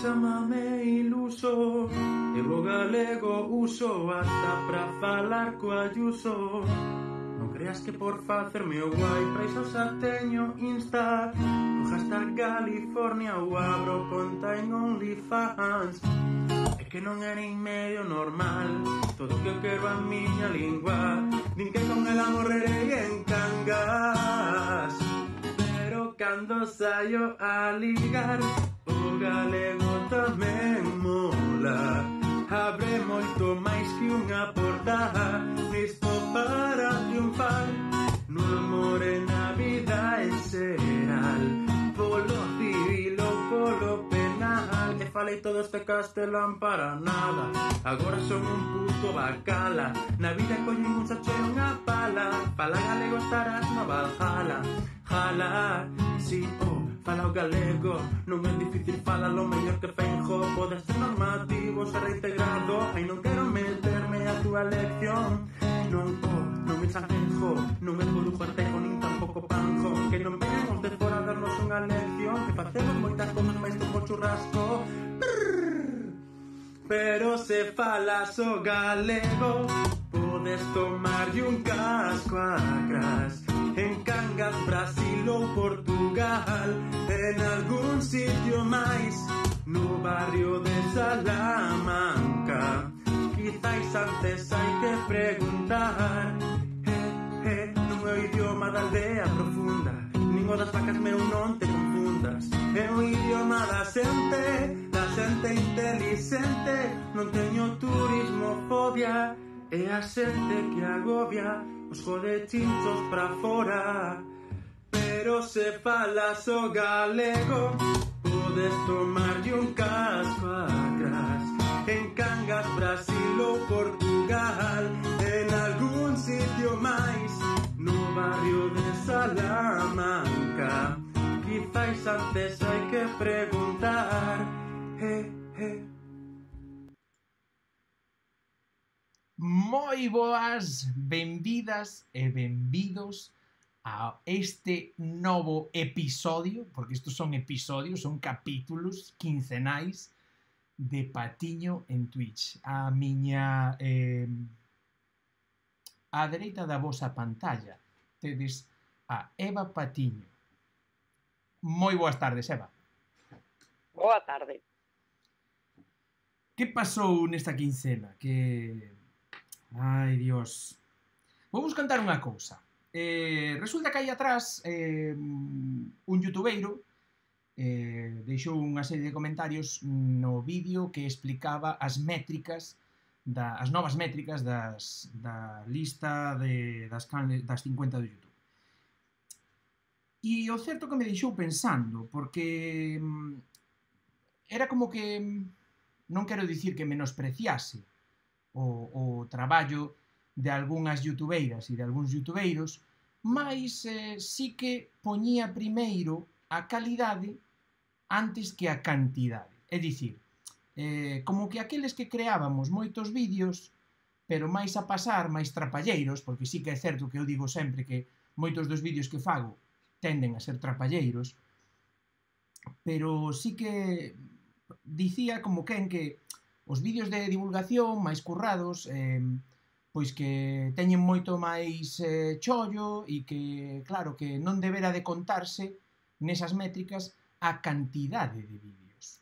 Chámame iluso, eu o galego uso hasta pra falar co Ayuso. Non creas que por facerme o guai pra iso xa teño Insta. O hashtag California ou abro conta en OnlyFans. É que non é nin medio normal todo o que eu quero a miña lingua. Din que con ela morrerei en Cangas, pero cando saio a ligar o galego tamén mola. Abre moito máis que unha porta, listo para triunfar no amor e na vida en xeral, polo civil ou polo penal. E falei todo este castelán para nada, agora son un puto bacala. Na vida coño un sache unha pala, fala galego estarás no Valhalla. Jala, si, fala o galego, non é difícil, fala lo mellor que Feijóo. Pode ser normativo, ser reintegrado, ai non quero meterme a túa lección. Non me chanquejo, non me produjo artejo, nin tampouco panjo. Que non venhamos de fora a darnos unha lección, que facemos moitas cousas máis como churrasco. Pero se falas o galego, podes tomarlle un casco a cras en Cangas, Brasil ou Portugal, en algún sitio máis, no barrio de Salamanca. Quizáis antes hai que preguntar. Non é o idioma da aldea profunda, nin o das vacas, meu, non te confundas. É o idioma da xente inteligente. Non teño turismofobia, é a xente que agobia os jodechinchos pra fora. Pero se falas o galego, podes tomarlle un casco a cras en Cangas, Brasil ou Portugal, en algún sitio máis, no barrio de Salamanca. Quizáis antes hai que preguntar. Moi boas, benvidas e benvidos a este novo episodio, porque estos son episodios, son capítulos quincenais de Patiño en Twitch. A miña á dereita da vosa pantalla tedes a Eva Patiño. Moi boas tardes, Eva. Boa tarde. Que pasou nesta quincena? Ai, Dios. Vou vos contar unha cousa. Resulta que aí atrás un youtubeiro deixou unha serie de comentarios no vídeo que explicaba as métricas, as novas métricas da lista das 50 do YouTube. E o certo que me deixou pensando, porque era como que, non quero dicir que menospreciase o traballo de algunhas youtubeiras e de algúns youtubeiros, mas sí que poñía primeiro a calidade antes que a cantidade. É dicir, como que aqueles que creábamos moitos vídeos, pero máis a pasar, máis trapalleiros, porque sí que é certo que eu digo sempre que moitos dos vídeos que fago tenden a ser trapalleiros, pero sí que dicía como que os vídeos de divulgación máis currados, pois que teñen moito máis chollo e que, claro, que non debera de contarse nesas métricas a cantidade de vídeos.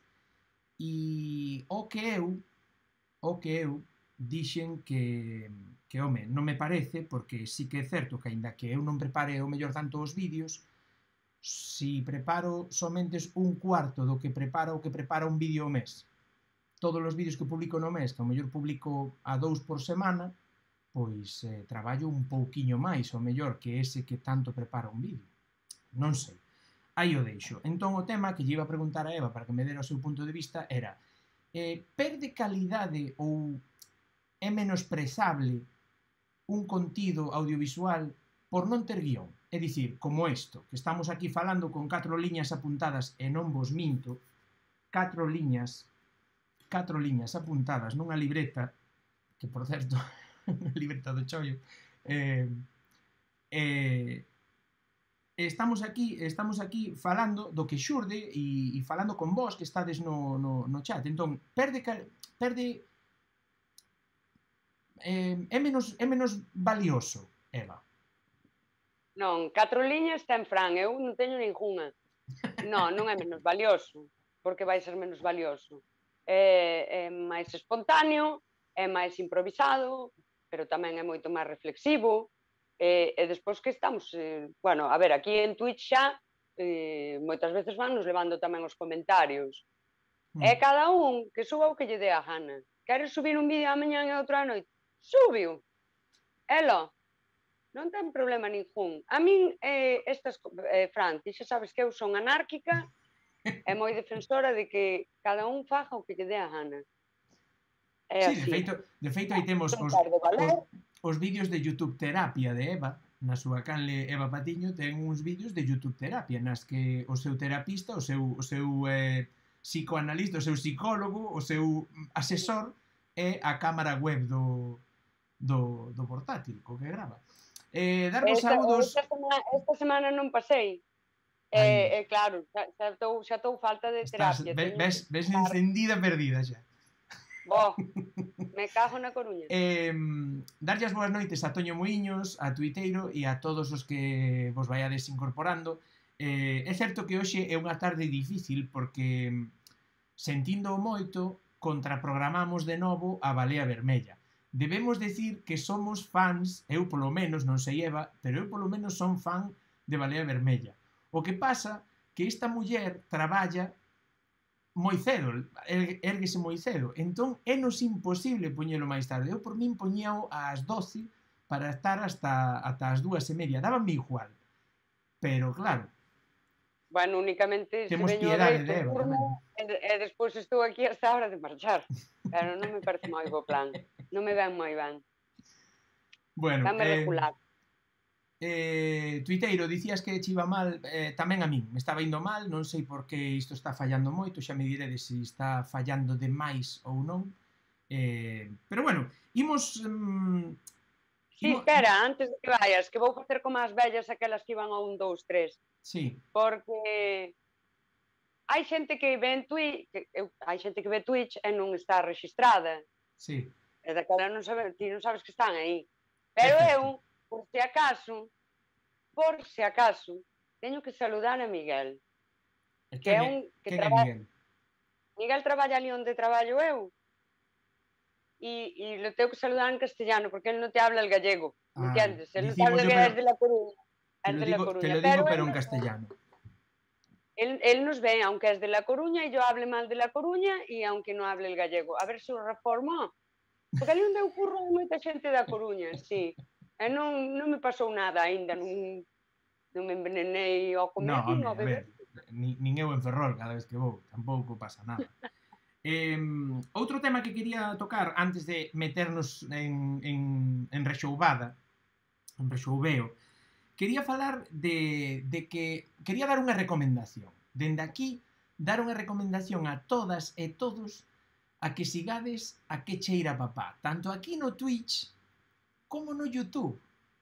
E o que eu dixen que home, non me parece, porque sí que é certo que aínda que eu non prepare o mellor tanto os vídeos, si preparo somente un cuarto do que prepara un vídeo ao mes, todos os vídeos que publico no mes, que ao mellor publico a 2 por semana, pois traballo un pouquiño máis, ao mellor, que ese que tanto prepara un vídeo. Non sei. Aí o deixo. Entón o tema que lle iba a preguntar a Eva para que me dera o seu punto de vista era: perde calidade ou é menosprezable un contido audiovisual por non ter guión? É dicir, como isto, que estamos aquí falando con 4 liñas apuntadas e non vos minto, 4 liñas apuntadas nunha libreta, que por certo, unha libreta do chollo, estamos aquí falando do que xurde e falando con vos que estades no chat. Entón, é menos valioso, Eva. Non, 4 liñas ten Fran, eu non teño ningunha. Non é menos valioso, porque vai ser menos valioso. É máis espontáneo, é máis improvisado, pero tamén é moito máis reflexivo. E despois que estamos, bueno, a ver, aquí en Twitch xa moitas veces van nos levando tamén os comentarios. É cada un que suba o que lle dé a gana. Queres subir un vídeo a mañá e outro a noite? Súbio. Elo. Non ten problema ningún. A min, Fran, ti xa sabes que eu son anárquica e moi defensora de que cada un faja o que lle dé a gana. É sí, así. De feito aí temos os vídeos de YouTube terapia de Eva, na súa canle Eva Patiño, ten uns vídeos de YouTube terapia nas que o seu terapista, o seu psicoanalista, o seu psicólogo, o seu asesor é a cámara web do portátil, co que grava. Darvos saúdos... Esta semana non pasei. Claro, xa estou falta de terapia. Ves encendida perdida xa. Bo, me cago na Coruña. Darlle as boas noites a Toño Muiños, a Tuiteiro e a todos os que vos vaiades incorporando. É certo que hoxe é unha tarde difícil porque, sentindo moito, contraprogramamos de novo a Balea Vermella. Debemos decir que somos fans, eu polo menos, non sei Eva, pero eu polo menos son fan de Balea Vermella. O que pasa que esta muller traballa moi cedo, érguese moi cedo, entón é nos imposible poñelo máis tarde. Eu por min poñíao ás 12 para estar ata as 2:30, dábanme igual, pero claro, bueno, únicamente temos piedade de Eva tamén. E despois estou aquí hasta a hora de marchar, pero non me parece moi bo plan, non me ven moi ben. Bueno, dame regular. Tuiteiro, dicías que che iba mal, tamén a min me estaba indo mal, non sei por que isto está fallando moito, xa me diredes se está fallando demais ou non, pero bueno, imos... Sí, espera, antes de que vayas, que vou facer como as vellas aquelas que iban a 1, 2, 3. Sí. Porque hai xente que ve Twitch e non está registrada. Sí. E daquela ti non sabes que están aí. Pero eu, por se acaso, teño que saludar a Miguel. Que é un que Miguel? Miguel traballa ali onde traballo eu. E lo tengo que saludar en castellano porque él no te habla el gallego, ¿me entiendes? Él no te habla que es de La Coruña. Te lo digo pero en castellano. Él nos ve, aunque es de La Coruña, y yo hable mal de La Coruña y aunque no hable el gallego. A ver se o reforma. Porque ali onde eu curro hai moita xente da Coruña, sí. E non me pasou nada aínda, non me envenenei ao comer nin ao beber. Nin eu en Ferrol cada vez que vou, tampouco pasa nada. Outro tema que quería tocar antes de meternos en rexoubada, en rexoubeo, quería falar de que quería dar unha recomendación. Dende aquí, dar unha recomendación a todas e todos a que sigades a Que Cheira Papá, tanto aquí no Twitch como no YouTube,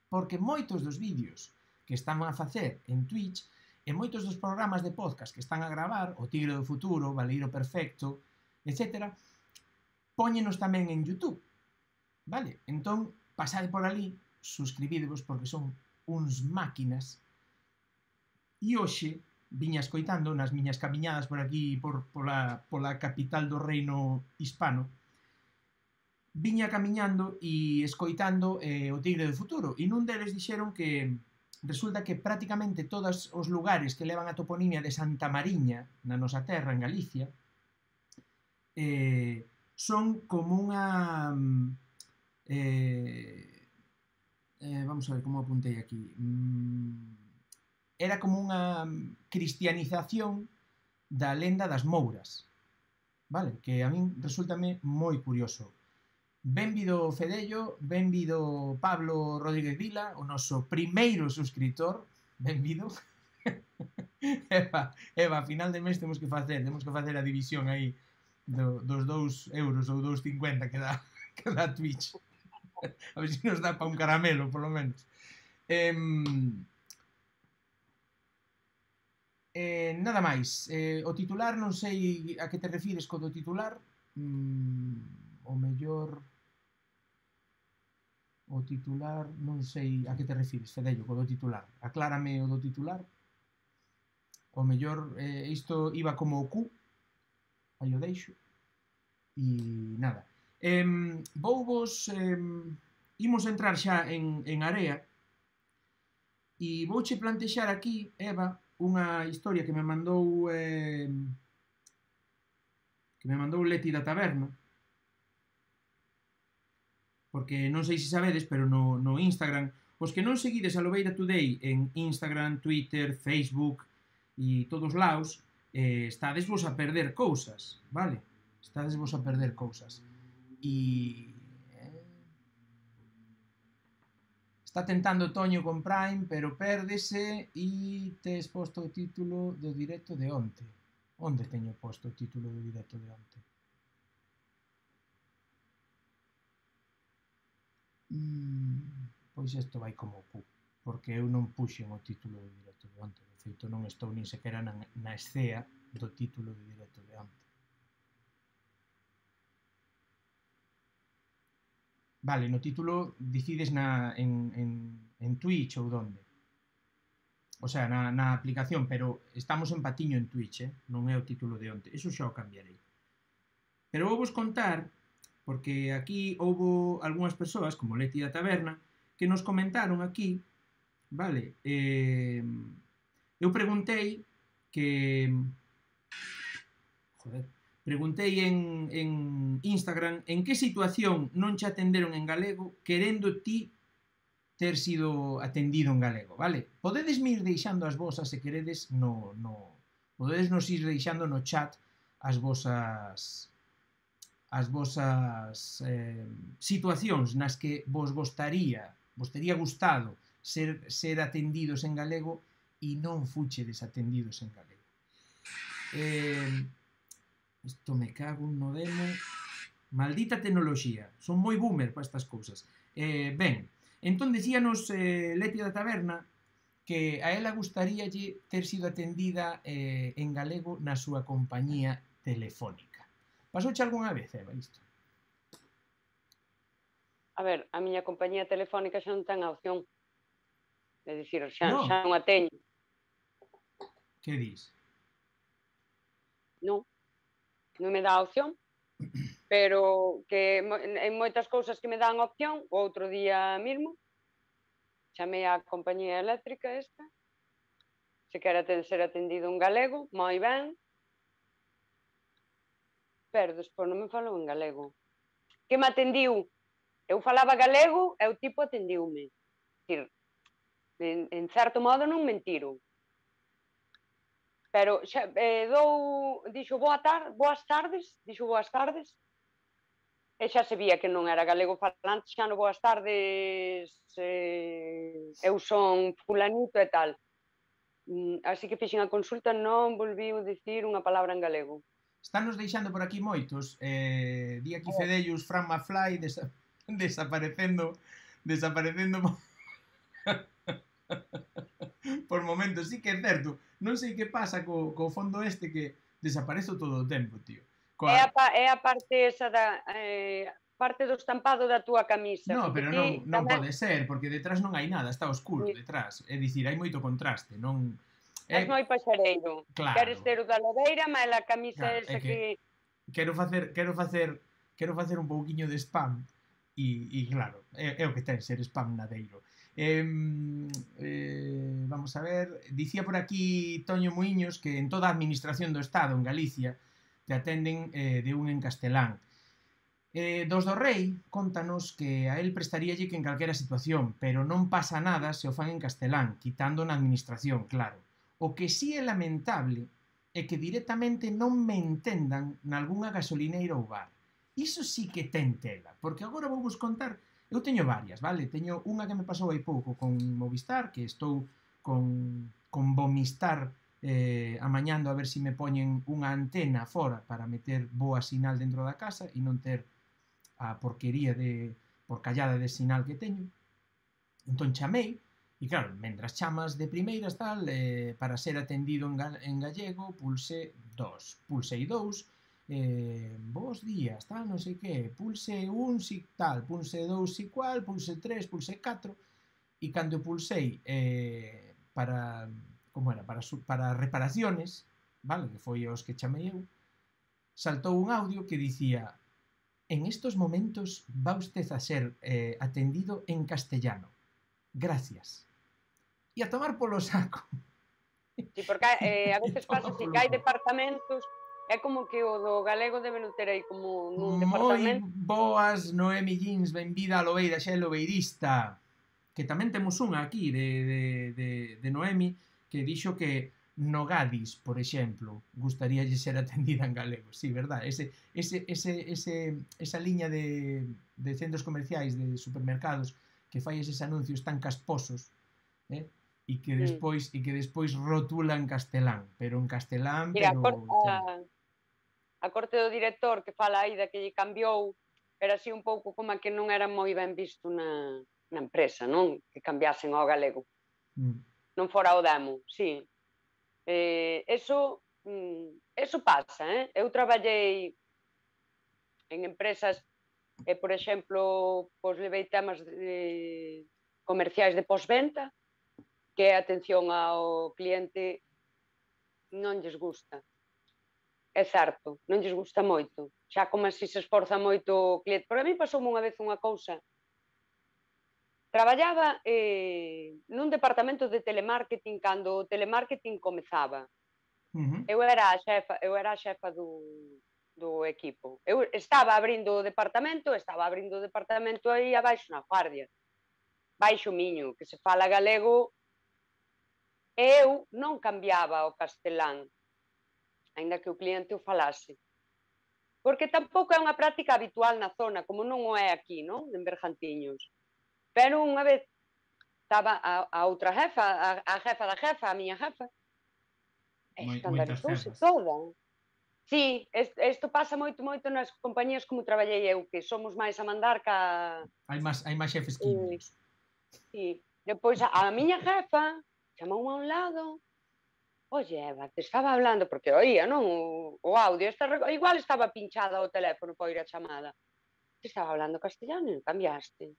porque moitos dos vídeos que están a facer en Twitch e moitos dos programas de podcast que están a gravar, O Tigre do Futuro, Valeiro Perfecto, etc., póñenos tamén en YouTube, vale? Entón, pasade por ali, suscribidevos porque son uns máquinas. E hoxe viña escoitando nas miñas camiñadas por aquí, pola capital do reino hispano, viña camiñando e escoitando O Tigre do Futuro, e nun deles dixeron que resulta que prácticamente todos os lugares que levan a toponimia de Santa Mariña, na nosa terra, en Galicia, son como unha vamos a ver como apuntei aquí, era como unha cristianización da lenda das Mouras, vale? Que a min resultame moi curioso. Benvido Fedello, benvido Pablo Rodríguez Vila, o noso primeiro suscriptor, benvido. Eva, a final de mes temos que facer a división aí dos 2 euros ou 2,50 que dá Twitch. A ver se nos dá para un caramelo, polo menos. Nada máis. O titular, non sei a que te refires co do titular. O mellor... O titular, non sei a que te refires, Fedello, co do titular. Aclárame o do titular. O mellor, isto iba como o Q, aí o deixo. E nada. Imos entrar xa en area e vouche plantexar aquí, Eva, unha historia que me mandou Leti da Taberna, porque non sei se sabedes, pero no Instagram, os que non seguides a Lobeira Today en Instagram, Twitter, Facebook e todos laos, estades vos a perder cousas, vale? Estades vos a perder cousas. E... está tentando Toño con Prime, pero pérdese e tes posto o título do directo de onte. Onde teño posto o título do directo de onte? Pois isto vai como Q, porque eu non puxen o título do directo de onte. De feito, non estou nin sequera na escea do título do directo de onte. Vale, no título dicides en Twitch ou donde? O sea, na aplicación, pero estamos en patiño en Twitch, non é o título de onte. Eso xa o cambiarei. Pero vou vos contar, porque aquí houbo algunhas persoas, como Leti da Taberna, que nos comentaron aquí, vale? Eu preguntei que... Joder... Preguntei en Instagram en que situación non che atenderon en galego querendo ti ter sido atendido en galego, vale? Podedes ir deixando as vosas, se queredes, podedes nos ir deixando no chat as vosas situacións nas que vos tería gustado ser atendidos en galego e non fuchedes atendidos en galego. Isto me cago no demo. Maldita tecnoloxía. Son moi boomer para estas cousas. Ben, entón dicíanos Leti da Taberna que a ela gustaríalle ter sido atendida en galego na súa compañía telefónica. Pasouche algunha vez, Eva, isto? A ver, a miña compañía telefónica xa non ten a opción. É dicir, xa non a teño. Que dis? Non. Non me dá a opción, pero que en moitas cousas que me dan opción, o outro día mesmo, chamei á compañía eléctrica esta, se quere ser atendido en galego, moi ben, pero despois non me falou en galego. Que me atendiu? Eu falaba galego e o tipo atendiume. En certo modo non mentiron. Pero dixo boas tardes, e xa se vía que non era galego falante, xa no boas tardes, eu son fulanito e tal. Así que fixen a consulta, non volviu dicir unha palabra en galego. Están nos deixando por aquí moitos, di aquí Fedellus, Fran Mafly, desaparecendo por momentos, sí que é certo. Non sei que pasa co fondo este que desaparezo todo o tempo, tío. É a parte esa da... parte do estampado da túa camisa. No, pero non pode ser, porque detrás non hai nada, está oscuro detrás. É dicir, hai moito contraste, non... És moi paxareiro. Queres ter o da Lobeira, mas a camisa esa que... Quero facer un pouquiño de spam e claro, é o que ten ser spam nadeiro. Vamos a ver, dicía por aquí Toño Muiños que en toda a administración do Estado en Galicia te atenden de un en castelán. Dos do Rei contanos que a él prestaríalle que en calquera situación, pero non pasa nada se o fan en castelán, quitando na administración, claro. O que sí é lamentable é que directamente non me entendan nalgúnha gasolineira ou bar. Iso sí que ten tela, porque agora vou vos contar. Eu teño varias, vale? Teño unha que me pasou hai pouco con Movistar, que estou con Vomistar amañando a ver se me poñen unha antena fora para meter boa sinal dentro da casa e non ter a porquería de porcallada de sinal que teño. Entón chamei E claro, mentras chamas de primeiras tal, para ser atendido en gallego, pulsei 2, bos días, tal, non sei que, pulse 1 si tal, pulse 2 si cual, pulse 3, pulse 4, e cando pulsei para, como era, para reparaciones, vale, que foi os que chamei eu, saltou un audio que dicía: en estos momentos va usted a ser atendido en castellano. Gracias. E a tomar polo saco. Sí, porque a veces pasa así, que hai Polo departamentos, é como que o do galego deben ter aí como nun moi departamento. boas, Noemi Jeans, benvida a Lobeira, xa é lobeirista. Que tamén temos unha aquí de Noemi que dixo que no Gadis, por exemplo, gustaríalle ser atendida en galego. Sí, verdad? Esa liña de centros comerciais, de supermercados, que fai eses anuncios tan casposos, e que despois rotula en castelán, pero en castelán, Mira, pero a corte do director que fala aí da que lle cambiou, era así un pouco como que non era moi ben visto na empresa, non? Que cambiasen ao galego. Non fora o demo, sí. Eso pasa, Eu traballei en empresas, por exemplo, pois levei temas comerciais de postventa, que a atención ao cliente non lles gusta. É certo, non lles gusta moito. Xa como se esforza moito o cliente. Por a mí pasoume unha vez unha cousa. Traballaba nun departamento de telemarketing cando o telemarketing comezaba. Eu era a xefa do equipo. Eu estaba abrindo o departamento aí abaixo na Guardia. Baixo Miño, que se fala galego, e eu non cambiaba o castelán, aínda que o cliente o falase. Porque tampouco é unha práctica habitual na zona, como non o é aquí, non? En Bergantiños. Pero unha vez estaba a outra jefa, a jefa da jefa, a miña jefa, escandalizouse toda. Sí, isto pasa moito nas compañías como traballei eu, que somos máis a mandar ca... Hai máis xefes que indios. Sí. Depois a miña jefa chamou a un lado: oye, Eva, te estaba hablando, porque oía, non? O audio, igual estaba pinchada o teléfono para oír a chamada. Te estaba hablando castellano e non cambiaste.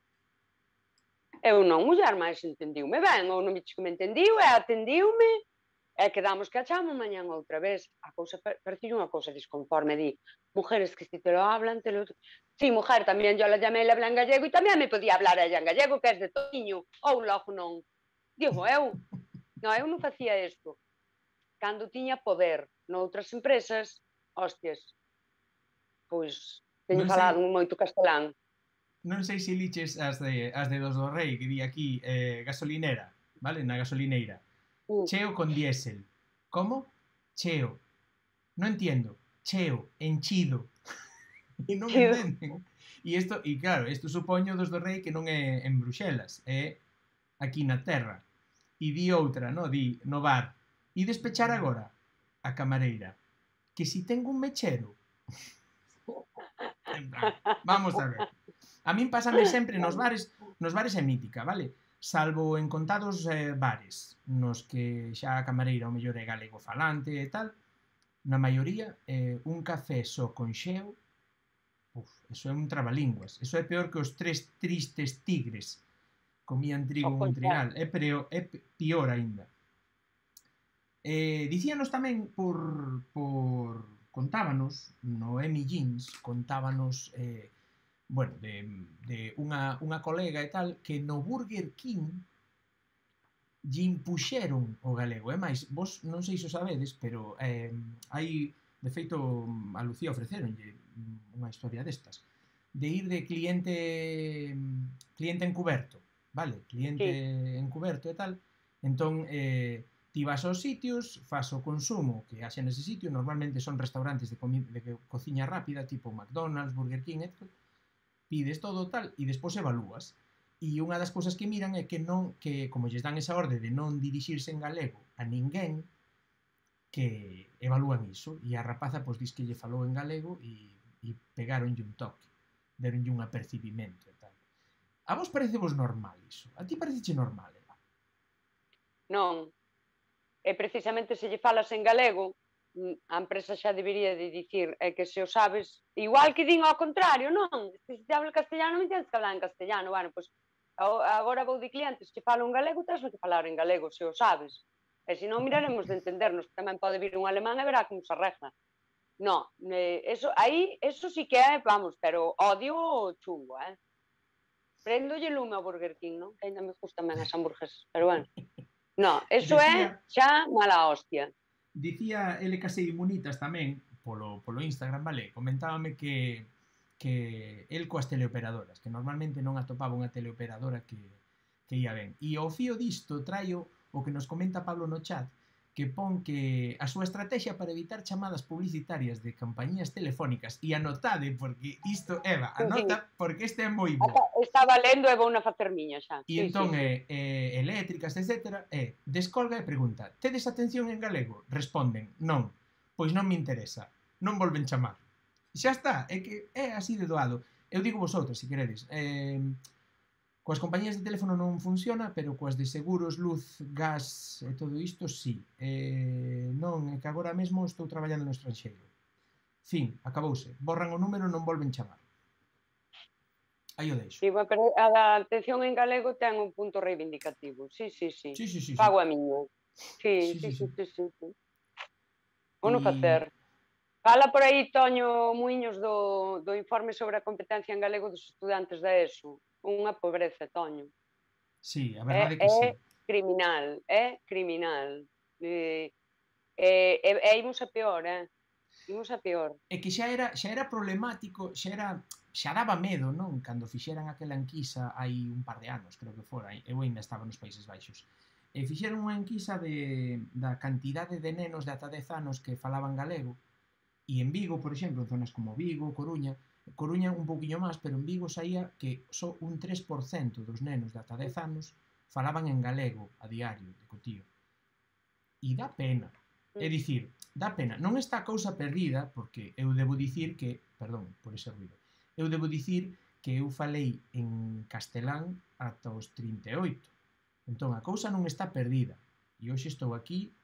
Eu non, muller, máis entendiume ben, ou non me entendiu e atendiume, e quedamos que a chamo mañán outra vez. A cousa parecía unha cousa disconforme, di, mujeres que si te lo hablan, te lo... Sí, mujer, tamén yo la llamé, le habla en gallego, e tamén me podía hablar ella en gallego, que es de Toño, ou logo non. Digo, eu non facía isto. Cando tiña poder noutras empresas, hostias, pois teño falado moito castelán. Non sei se liches as de dos do Rei, que di aquí gasolinera, vale? Na gasolineira. Cheo con diésel. Como? Cheo. Non entiendo. Cheo, enchido. E non entenden. E claro, isto supoño dos do Rei que non é en Bruxelas, é aquí na terra. E di outra, no? Di no bar. E despechar agora a camareira. Que si tengo un mechero. Vamos a ver. A min pásame sempre nos bares é mítica, vale? Salvo en contados bares nos que xa a camareira o mellor é galego falante e tal, na maioría un café só con xeo, eso é un trabalínguas, eso é peor que os 3 tristes tigres comían trigo en un trigal, é pior aínda. Dicíanos tamén contábanos, Noemi Jeans, contábanos bueno, de unha colega e tal, que no Burger King lle impuxeron o galego. É máis, vos non sei se o sabedes, pero hai, de feito, a Lucía ofreceronlle unha historia destas, de ir de cliente encuberto, vale? Cliente encuberto e tal. Entón, ti vas aos sitios, fas o consumo que haxa nese sitio, normalmente son restaurantes de cociña rápida, tipo McDonald's, Burger King, etc. Pides todo tal e despois evalúas. E unha das cousas que miran é que como lles dan esa orde de non dirixirse en galego a ninguén, que evalúan iso. E a rapaza pois dis que lle falou en galego e pegaronlle un toque, deronlle un apercibimento e tal. A vos parecevos normal iso? A ti pareceche normal, Eva? Non. E precisamente se lle falas en galego, a empresa xa debería de dicir que se o sabes, igual que din ao contrario, non? Se te habla castellano, me tens que hablar en castellano. Bueno, pois agora vou de clientes que falo en galego, tens que falar en galego, se o sabes. E se non, miraremos de entendernos, que tamén pode vir un alemán e verá como se arregla. No, eso sí que é, vamos, pero odio chungo, Prendolle lume ao Burger King, non? Que ainda me gustan ben as hamburguesas, pero bueno. No, eso é xa mala hostia. Dicía ele Casei Munitas tamén, polo Instagram, vale? Comentábame que el coas teleoperadoras, que normalmente non atopaba unha teleoperadora que ia ben. E ao fío disto traio o que nos comenta Pablo no chat, que pon que a súa estrategia para evitar chamadas publicitarias de compañías telefónicas, e anotade, porque isto, Eva, anota, porque este é moi bo. Estaba lendo e vou na facer miña xa. E entón, eléctricas, etc. Descolga e pregunta: tedes atención en galego? Responden: non. Pois non me interesa. Non volven chamar. Xa está, é que é así de doado. Eu digo vosotros, se queredes. Coas compañías de teléfono non funciona, pero coas de seguros, luz, gas e todo isto, sí. Non, é que agora mesmo estou traballando no estranxeiro. Fin, acabouse. Borran o número, non volven chamar. Aí o deixo. Sí, pero a da atención en galego ten un punto reivindicativo. Sí. Pago a miña. Sí. O non facer. Fala por aí Toño Muiños do informe sobre a competencia en galego dos estudantes da ESO. Unha pobreza, Toño. Sí, a verdade que sí. É criminal. E imos a peor, Imos a peor. É que xa era problemático, xa daba medo, non? Cando fixeran aquela enquisa hai un par de anos, creo que fora, eu ainda estaba nos Países Baixos. Fixeron unha enquisa da cantidade de nenos de ata 10 anos que falaban galego, e en Vigo, por exemplo, en zonas como Vigo, Coruña un pouquiño máis, pero en Vigo saía que só un 3% dos nenos de ata 10 anos falaban en galego a diario, de cotío. E dá pena. É dicir, dá pena. Non está a cousa perdida, porque eu debo dicir que, perdón por ese ruido, eu falei en castelán ata os 38. Entón, a cousa non está perdida. E hoxe estou aquí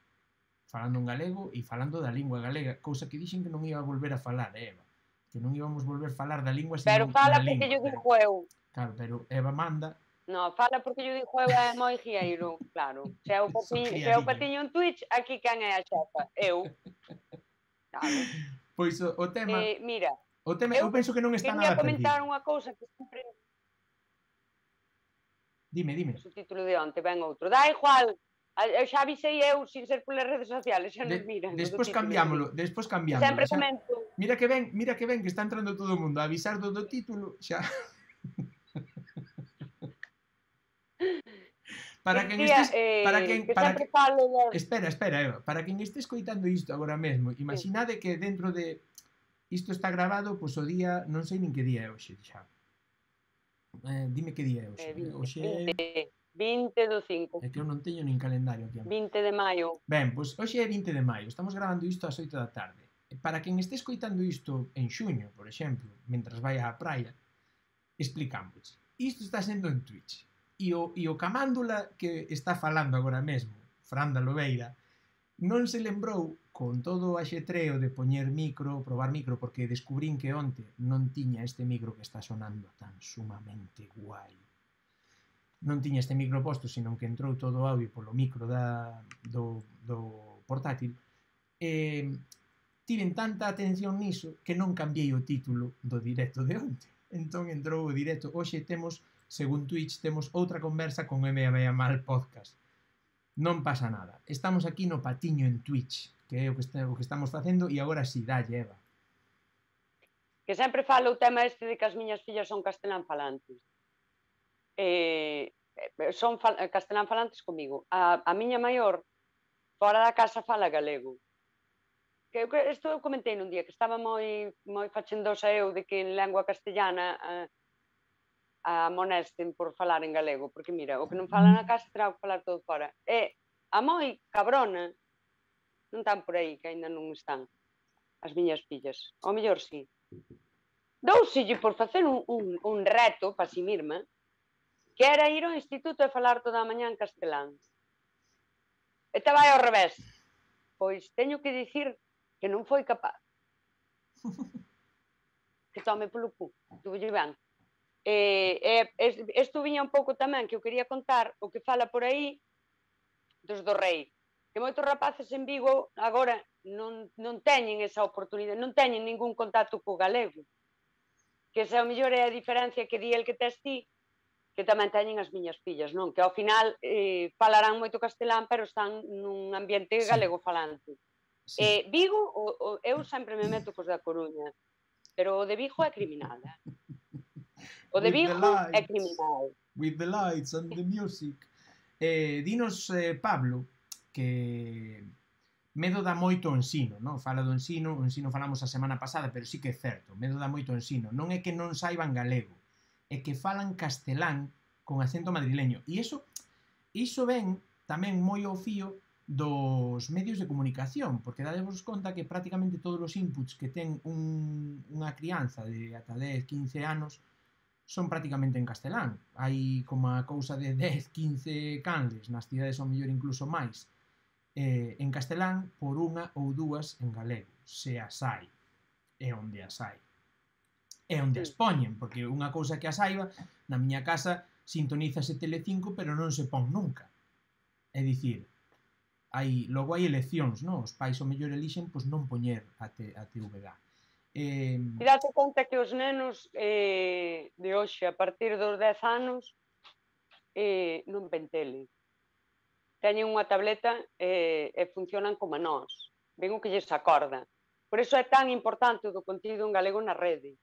falando en galego e falando da lingua galega, cousa que dixen que non iba a volver a falar, Eva. Que non íbamos volver a falar da lingua senón da lingua. Pero fala porque yo dixo eu. Claro, pero Eva manda. No, fala porque yo dixo eu é moi guieiro, claro. Se é o patiño en Twitch, aquí quen é a xefa? Eu. Claro. Pois o tema... Mira, eu penso que non está nada perdido. Quería comentar unha cousa que sempre... Dime. O título de onte, ben outro. Da igual, xa avisei eu sin ser polas redes sociales, xa nos miran. Despois cambiámolo. Sempre comento. Mira que ven, que está entrando todo o mundo a avisar do título, xa... Para quen estés... Espera, Eva. Para quen este escoitando isto agora mesmo, imaginade que dentro de... Isto está grabado, pois o día... Non sei nin que día é hoxe, xa. Dime que día é hoxe. Hoxe é... 20 do 5. É que eu non teño nin calendario aquí. 20 de maio. Ben, pois hoxe é 20 de maio. Estamos grabando isto ás 8 da tarde. Para quen este escoitando isto en xuño, por exemplo, mentras vai á praia, explicamos. Isto está sendo en Twitch. E o camándula que está falando agora mesmo, Fran da Lobeira, non se lembrou con todo o axetreo de poñer micro, probar micro, porque descubrín que onte non tiña este micro que está sonando tan sumamente guai. Non tiña este micro posto, senón que entrou todo o audio polo micro do portátil. Tiven tanta atención niso que non cambiei o título do directo de onte. Entón entrou o directo. Hoxe temos, según Twitch, temos outra conversa con M.A. Mal Podcast. Non pasa nada. Estamos aquí no patiño en Twitch, que é o que estamos facendo, e agora si, dalle, Eva. Que sempre falo o tema este de que as miñas fillas son castelán falantes. Son castelán falantes comigo. A miña maior, fora da casa, fala galego. Isto eu comentei nun día, que estaba moi fachendosa eu de que en lengua castellana a monesten por falar en galego, porque mira, o que non fala na casa terá que falar todo fora. E a moi cabrona non están por aí, que ainda non están as miñas fillas. Ao mellor sí. Douselle por facer un reto para si mesma, que era ir ao instituto e falar toda a mañá en castelán. te vai ao revés. Pois teño que dicir que non foi capaz. Que tome polo cu, tuve ben. Isto viña un pouco tamén que eu quería contar o que fala por aí dos do Rei, que moitos rapaces en Vigo agora non teñen esa oportunidade, non teñen ningún contacto co galego, que esa ao mellor é a diferencia que di el que tes ti, que tamén teñen as miñas fillas, non? Que ao final falarán moito castelán, pero están nun ambiente galego falante. Vigo, eu sempre me meto cos da Coruña, pero o de Vigo é criminal, O de Vigo é criminal. With the lights and the music. Dinos, Pablo, que medo dá moito o ensino, non? Fala do ensino, o ensino falamos a semana pasada, pero sí que é certo, medo dá moito o ensino. Non é que non saiban galego, é que falan castelán con acento madrileño. E iso ven tamén moi ao fío dos medios de comunicación, porque dadevos conta que prácticamente todos os inputs que ten unha crianza de ata 10-15 anos son prácticamente en castelán. Hai como a cousa de 10-15 canles nas cidades ao mellor incluso máis en castelán por unha ou dúas en galego, se as hai, é onde as hai. É onde as poñen, porque unha cousa que as saiba, na miña casa sintonízase Telecinco, pero non se pon nunca. É dicir, logo hai eleccións, non? Os pais ao mellor elixen pois non poñer a TVG. E date conta que os nenos de hoxe, a partir dos 10 anos, non ven tele. Teñen unha tableta e funcionan como nós. Ven o que lles acorda. Por iso é tan importante o do contido en galego na rede.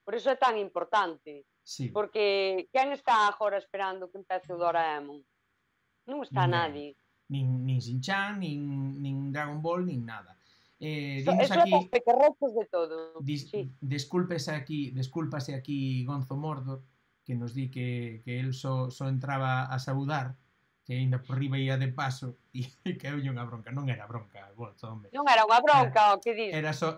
Por iso é tan importante. Sí. Porque quen está agora esperando que empece o Doraemon? Non está nadie. Nin Shin-chan, nin Dragon Ball, nin nada. Eso aquí, é pequerrechos de todo. Descúlpase aquí Gonzo Mordor, que nos di que el só entraba a saudar, que ainda por riba ia de paso, e que eu unha bronca. Non era bronca, hombre. Non era unha bronca, o que dis? Era só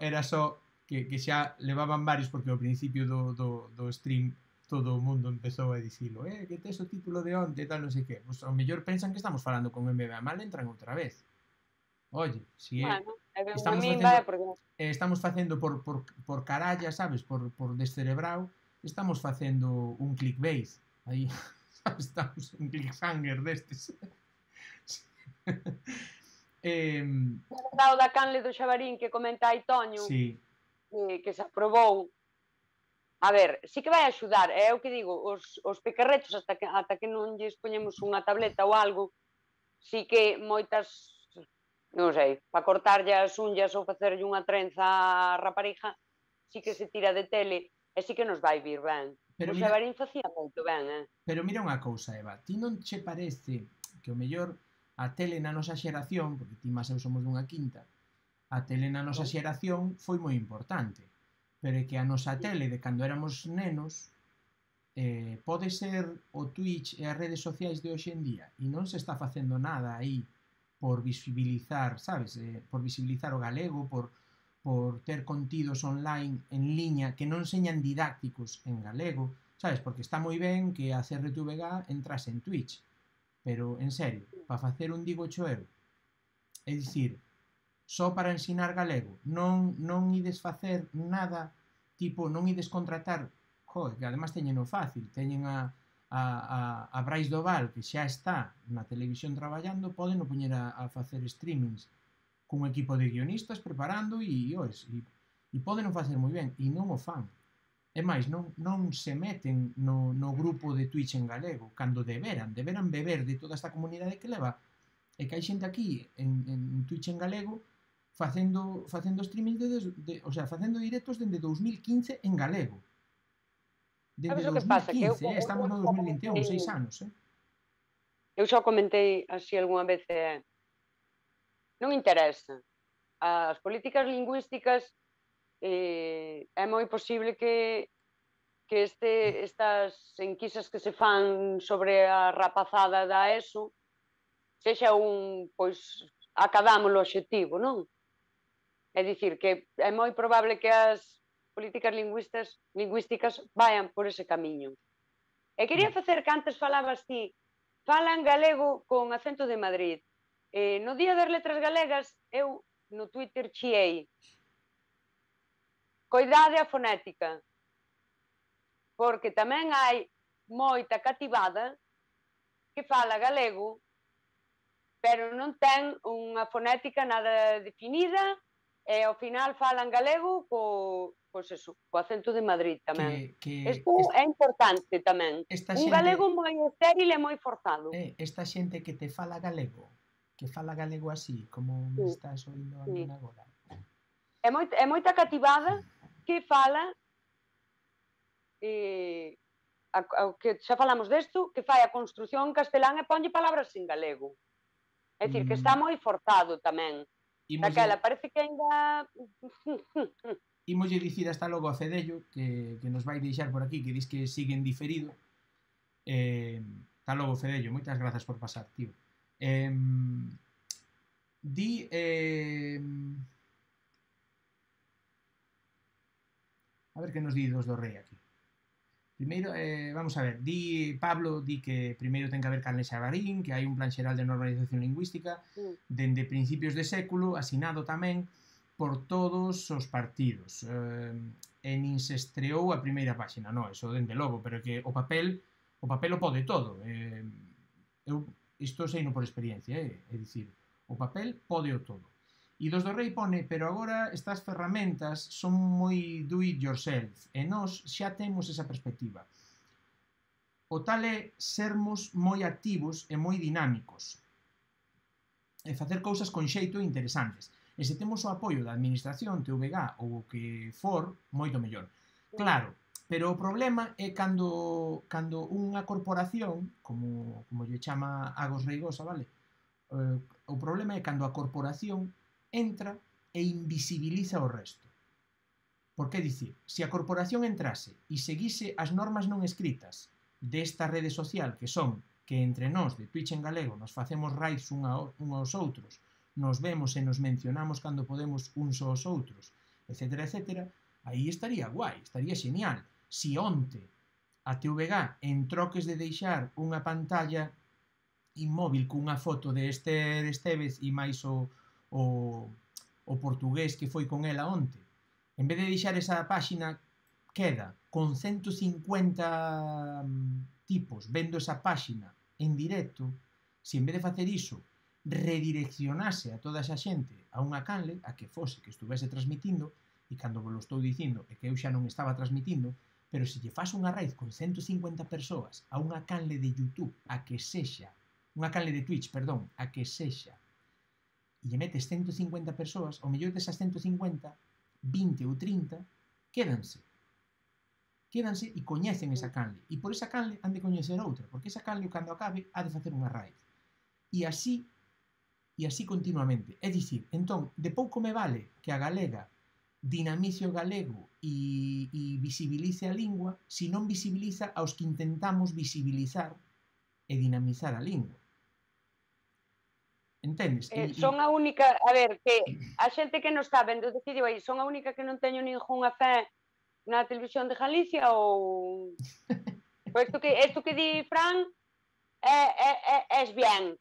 que xa levaban varios, porque ao principio do stream todo o mundo empezou a dicilo, que tes o título de onte, tal, non sei que. Pois ao mellor pensan que estamos falando con MBA mal, entran outra vez. Oye, si é... Estamos facendo por caralla, sabes, por descerebrao, estamos facendo un clickbait. Aí, sabes, estamos un cliffhanger destes. O da canle do Xabarín que comenta aí Toño, que se aprobou. A ver, sí que vai axudar, é o que digo, os pequerrechos ata que non lles poñemos unha tableta ou algo, sí que moitas... non sei, para cortarlle as unhas ou facerlle unha trenza á rapariga, sí que se tira de tele e sí que nos vai vir ben. O Xabarín facía moito ben, Pero mira unha cousa, Eva, ti non che parece que o mellor a tele na nosa xeración, porque ti máis eu somos dunha quinta, a tele na nosa xeración foi moi importante, pero é que a nosa tele de cando éramos nenos pode ser o Twitch e as redes sociais de hoxe en día e non se está facendo nada aí por visibilizar, sabes, por visibilizar o galego, por ter contidos online en liña que non señan didácticos en galego, sabes, porque está moi ben que a CRTVG entrase en Twitch, pero, en serio, para facer un digo cho eu, é dicir, só para ensinar galego, non ides facer nada, tipo, non ides contratar, que además teñen o fácil, teñen a Brais Doval, que xa está na televisión traballando, poden o poñer a facer streamings cun equipo de guionistas preparando e poden o facer moi ben, e non o fan. É máis, non se meten no grupo de Twitch en galego, cando deberan beber de toda esta comunidade que leva, e que hai xente aquí en Twitch en galego facendo streaming o sea, facendo directos dende 2015 en galego. Dende 2015, estamos no 2021, 6 anos, Eu xa comentei así algunha vez, non interesa. As políticas lingüísticas é moi posible que estas enquisas que se fan sobre a rapazada da ESO sexa pois, acadamos o obxectivo, non? É dicir, que é moi probable que as políticas lingüísticas vayan por ese camiño. E quería facer que antes falabas ti, falan galego con acento de Madrid. No Día das Letras Galegas, eu no Twitter chiei coidade a fonética, porque tamén hai moita cativada que fala galego, pero non ten unha fonética nada definida, e ao final falan galego co acento de Madrid tamén. Isto é importante tamén. Un galego moi estéril e moi forzado. Esta xente que te fala galego, que fala galego así, como me estás oindo a min agora. É moita cativada que fala que xa falamos desto, que fai a construción en castelán e ponlle palabras en galego. É dicir, que está moi forzado tamén. Daquela, parece que ainda... Imoslle dicir hasta logo a Fedello, que nos vai deixar por aquí, que dis que siguen diferido. Hasta logo, Fedello, moitas grazas por pasar, tío. Di... A ver que nos di dos do rei aquí. Primeiro, vamos a ver, Pablo di que primeiro ten que haber Carles Xabarín, que hai un plan xeral de normalización lingüística dende principios de século, asinado tamén por todos os partidos. E nin se estreou a primeira páxina, non, eso dende logo, pero que o papel o pode todo. Eu isto seino por experiencia, é dicir, o papel pode o todo. E dos do rei pone, pero agora estas ferramentas son moi do it yourself, e nós xa temos esa perspectiva. O tal é sermos moi activos e moi dinámicos, e facer cousas con xeito interesantes. E se temos o apoio da administración, TVG ou o que for, moito mellor. Claro, pero o problema é cando unha corporación, como lle chama Agos Reigosa, vale? O problema é cando a corporación entra e invisibiliza o resto. Por que dicir? Se a corporación entrase e seguise as normas non escritas desta rede social, que son que entre nós de Twitch en galego nos facemos raids uns aos outros, nos vemos e nos mencionamos cando podemos uns aos outros, etc, etc, aí estaría guai, estaría genial. Si onte a TVG, en troques de deixar unha pantalla inmóvil cunha foto de Esther Estevez e máis o portugués que foi con ela onte, en vez de deixar esa páxina, queda con 150 tipos vendo esa páxina en directo, se en vez de facer iso redireccionase a toda esa xente a unha canle, a que fose que estuvese transmitindo, e cando vos lo estou dicindo é que eu xa non estaba transmitindo, pero se lle faz unha raid con 150 persoas a unha canle de YouTube, a que sexa, unha canle de Twitch, perdón, a que sexa, e lle metes 150 persoas, o mellor desas 150, 20 ou 30, quédanse e coñecen esa canle. E por esa canle han de coñecer outra, porque esa canle, cando acabe, ha de facer unha raid. E así continuamente. É dicir, entón, de pouco me vale que a galega dinamice o galego e visibilice a lingua, se non visibiliza aos que intentamos visibilizar e dinamizar a lingua. Entendes? Son a única, a ver, que a xente que non está vendo decidiu aí, son a única que non teño ningunha fe na televisión de Galicia ou... Isto que di Fran es bien.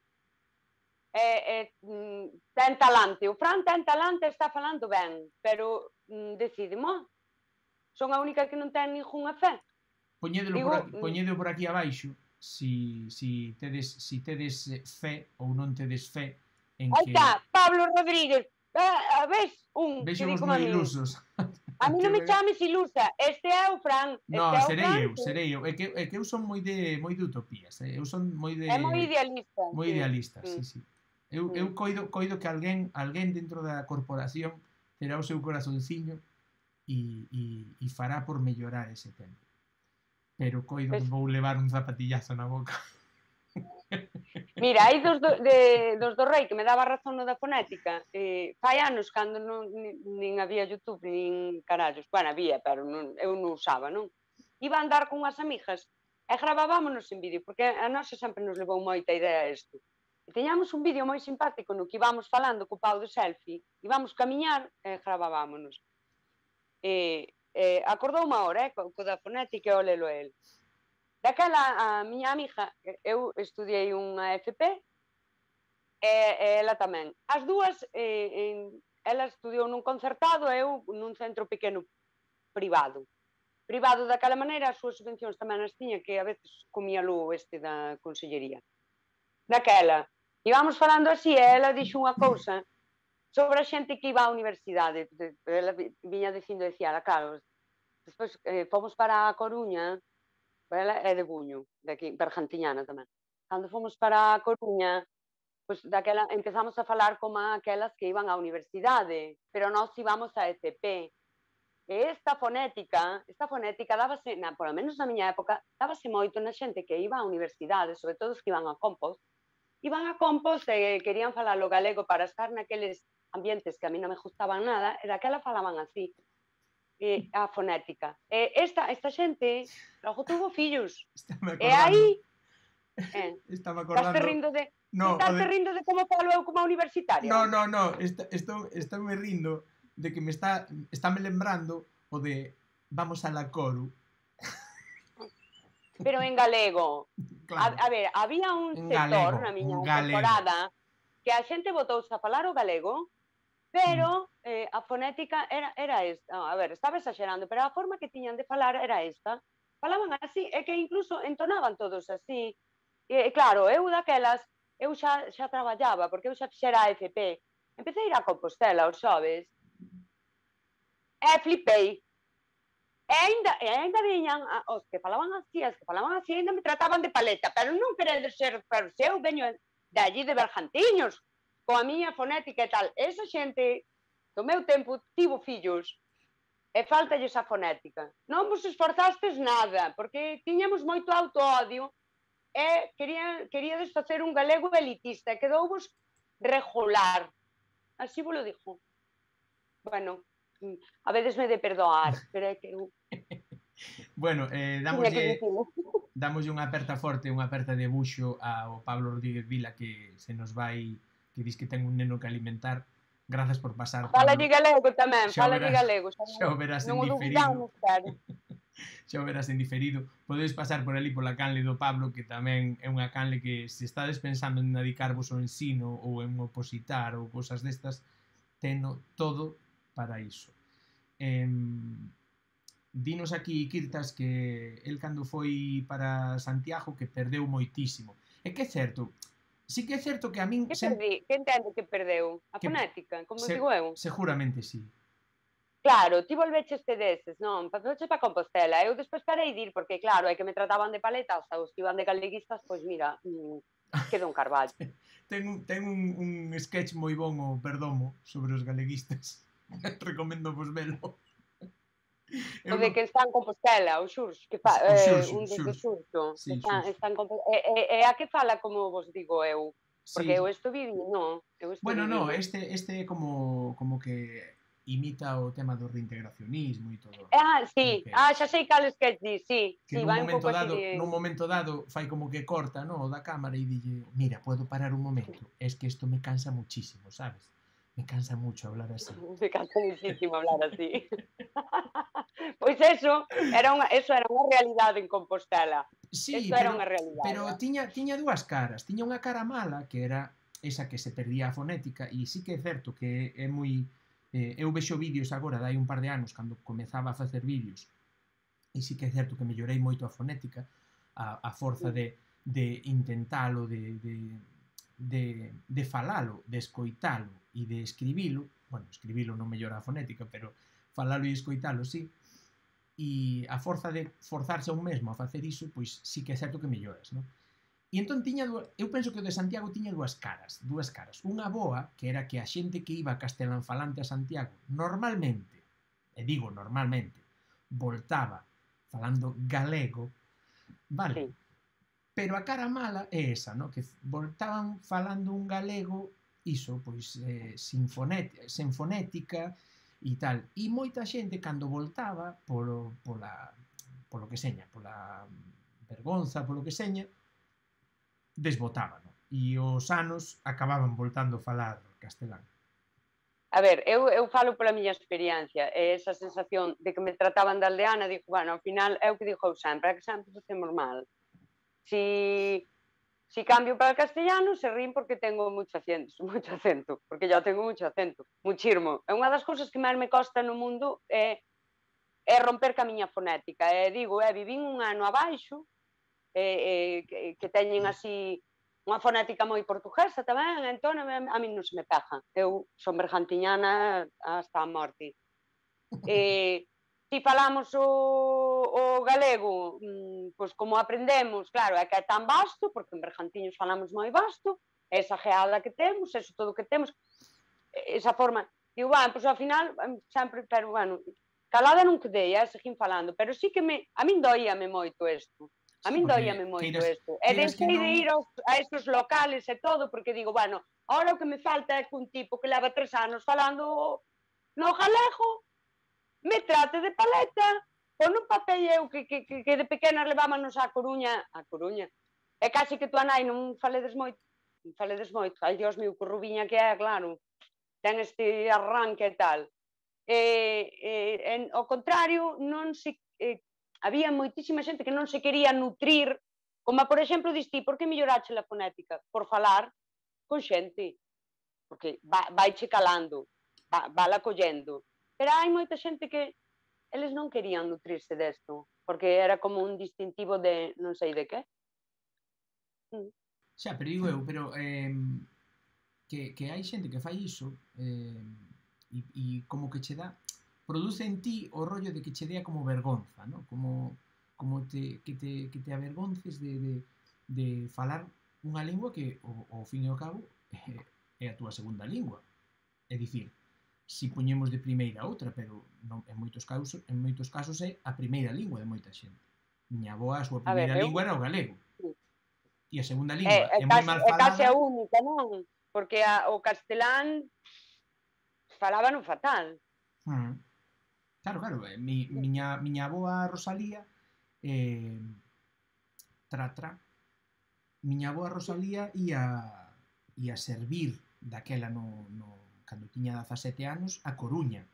Ten talante. O Fran ten talante e está falando ben, pero decidimo. Son a única que non ten ningunha fe. Poñedelo por aquí abaixo. Si tedes fe ou non tedes fe en que... Aí está, Pablo Rodríguez. Ves un que di como a mí. Ilusos. A mí non me chames ilusa. Este é o Fran. No, serei eu. É que eu son moi de utopías. Eu son moi de... É moi idealista. Moi idealista, sí. Eu coido que alguén dentro da corporación terá o seu corazonciño e fará por mellorar ese tempo. Pero coido que vou levar un zapatillazo na boca. Mira, hai dos do rei que me daba razón no da fonética. Fai anos, cando nin había YouTube, nin carallos. Bueno, había, pero eu non usaba, non? Iba a andar con unhas amigas e gravábamos en vídeo, porque a nosa sempre nos levou moita idea isto. E teñamos un vídeo moi simpático no que íbamos falando co pau de selfie, íbamos camiñar e gravábamos. Acordou unha hora, co da fonética e o lelo el. Daquela, a miña amiga, eu estudiei unha FP, e ela tamén. As dúas, ela estudiou nun concertado e eu nun centro pequeno privado. Privado daquela maneira, as súas subvencións tamén as tiña, que a veces comía lo da consellería. Daquela, íbamos falando así, e ela dixo unha cousa sobre a xente que iba á universidade. Ela viña dicindo, decía, claro, despois fomos para a Coruña, ela é de Buño, de aquí, Bergantiñana tamén. Cando fomos para a Coruña, pois daquela empezamos a falar como aquelas que iban á universidade, pero nós íbamos a ECP. E esta fonética dábase, polo menos na miña época, dábase moito na xente que iba á universidade, sobre todo os que iban a Compos e querían falar o galego para estar naqueles ambientes que a mí non me gustaban nada, e daquela falaban así, a fonética. E esta xente logo tuvo fillos. E aí, estaba estás acordando. rindo de... No, estás rindo de como falo eu como universitaria? No, estou me rindo de que está me lembrando o de vamos a la Coru. Pero en galego. Claro. A ver, había un sector na miña temporada que a xente botouse a falar o galego, pero a fonética era esta. A ver, estaba exagerando, pero a forma que tiñan de falar era esta. Falaban así, e que incluso entonaban todos así. E claro, eu daquelas, eu xa traballaba, porque eu xa fixera a FP. Empecé a ir a Compostela os xoves, e flipei. E ainda viñan os que falaban así, ainda me trataban de paleta, pero non queredes ser, pero se eu veño de allí de Bergantiños, coa miña fonética e tal. Esa xente do meu tempo tivo fillos e faltalles a fonética. Non vos esforzastes nada, porque tiñamos moito autoodio e queríades facer un galego elitista, e quedouvos regular. Así vos lo dixo. Bueno, a veces me de perdoar, pero é que eu... Bueno, damoslle unha aperta forte, unha aperta de buxo ao Pablo Rodríguez Vila, que se nos vai, que dis que ten un neno que alimentar. Grazas por pasar, Pablo. Falalle galego tamén, falalle galego. Xa o verás en diferido. Xa o verás en diferido. Podedes pasar por ali pola canle do Pablo, que tamén é unha canle que se estades pensando en dedicarvos ao ensino ou en opositar ou cousas destas, teno todo para iso. Dinos aquí, Kirtas, que el cando foi para Santiago que perdeu moitísimo. É que é certo, sí que é certo que a min... Que entende que perdeu? A fonética, como digo eu? Seguramente sí. Claro, ti volveches deses, non? Volveches para Compostela. Eu despois parei de ir, porque claro, é que me trataban de paletas, os que iban de galeguistas, pois mira, quedou un carballo. Ten un sketch moi bon o Perdomo sobre os galeguistas. Recomendo vos velo. O de que está en Compostela, o Xurxo, que fa un desde Xurxo. Está en Compostela. E a que fala como vos digo eu? Porque eu isto viví, non? Bueno, no, este é como que imita o tema do reintegracionismo e todo. Sí. Xa sei cal sketch di, sí. Que nun momento dado fai como que corta, no, da cámara e dille, mira, puedo parar un momento, es que esto me cansa muchísimo, ¿sabes? Me cansa mucho hablar así. Me cansa muchísimo hablar así. Pois eso era unha realidade en Compostela. Sí, era unha realidade. Pero tiña dúas caras. Tiña unha cara mala, que era esa que se perdía a fonética, e sí que é certo que é moi... eu vexo vídeos agora, dai un par de anos, cando comezaba a facer vídeos, e sí que é certo que mellorei moito a fonética, a forza de intentalo, de falalo, de escoitalo e de escribilo. Bueno, escribilo non mellora a fonética, pero falalo e escoitalo, sí. E a forza de forzarse a un mesmo a facer iso, pois sí que é certo que melloras, non? E entón eu penso que o de Santiago tiña dúas caras. Unha boa, que era que a xente que iba castelanfalante a Santiago, normalmente, e digo normalmente, voltaba falando galego, vale? Sí. Pero a cara mala é esa, non? Que voltaban falando un galego, iso, pois, sen fonética, e tal. E moita xente, cando voltaba polo que seña, pola vergonza, polo que seña, desbotaba, non? E os anos acababan voltando a falar castelán. A ver, eu falo pola miña experiencia, e esa sensación de que me trataban de aldeana, digo, bueno, ao final é o que digo eu sempre, é que sempre facemos mal. Si Si cambio para el castellano, se rín porque tengo moito acento, porque yo tengo moito acento, muchirmo. É unha das cousas que máis me costa no mundo é romper ca miña fonética. Digo, vivín un ano abaixo, que teñen así unha fonética moi portuguesa tamén, entón a min non se me pega. Eu son bergantiñana hasta a morte. Si falamos o galego, pois como aprendemos, claro, é que é tan vasto, porque en Bergantiños falamos moi vasto, esa geada que temos, eso todo que temos, esa forma, digo, pois ao final, sempre, pero, bueno, calada non quedei, seguín falando, pero sí que a min doíame moito isto, a Sí, min porque doíame moito queiras, isto, e queiras que deixei de non... ir a estes locales e todo, porque digo, bueno, ahora o que me falta é que un tipo que leva 3 anos falando no galego, me trate de paleta, pon un papel eu que de pequena levámonos á Coruña, e casi que tú a nai non faledes moito, ai Dios mío, que rubiña que é, claro, ten este arranque e tal. Ao contrario, non se, había moitísima xente que non se quería nutrir, como por exemplo, diste, por que mellorache a fonética? Por falar con xente, porque vai che calando, vala collendo, pero hai moita xente que eles non querían nutrirse desto, porque era como un distintivo de non sei de que. Xa, pero digo eu, pero que hai xente que fai iso e como que che dá, produce en ti o rollo de que che dea como vergonza, ¿no? Como que te avergonces de falar unha lingua que, ao fin e ao cabo, é a túa segunda lingua. É dicir, si poñemos de primeira outra, pero non, en moitos casos é a primeira lingua de moita xente. Miña avó, a súa primeira lingua era o galego. E a segunda lingua é moi mal falada. É case a única, non? Porque o castelán falábano fatal. Claro, miña avoa Rosalía miña avoa Rosalía ia servir daquela cando tiña 17 anos a Coruña.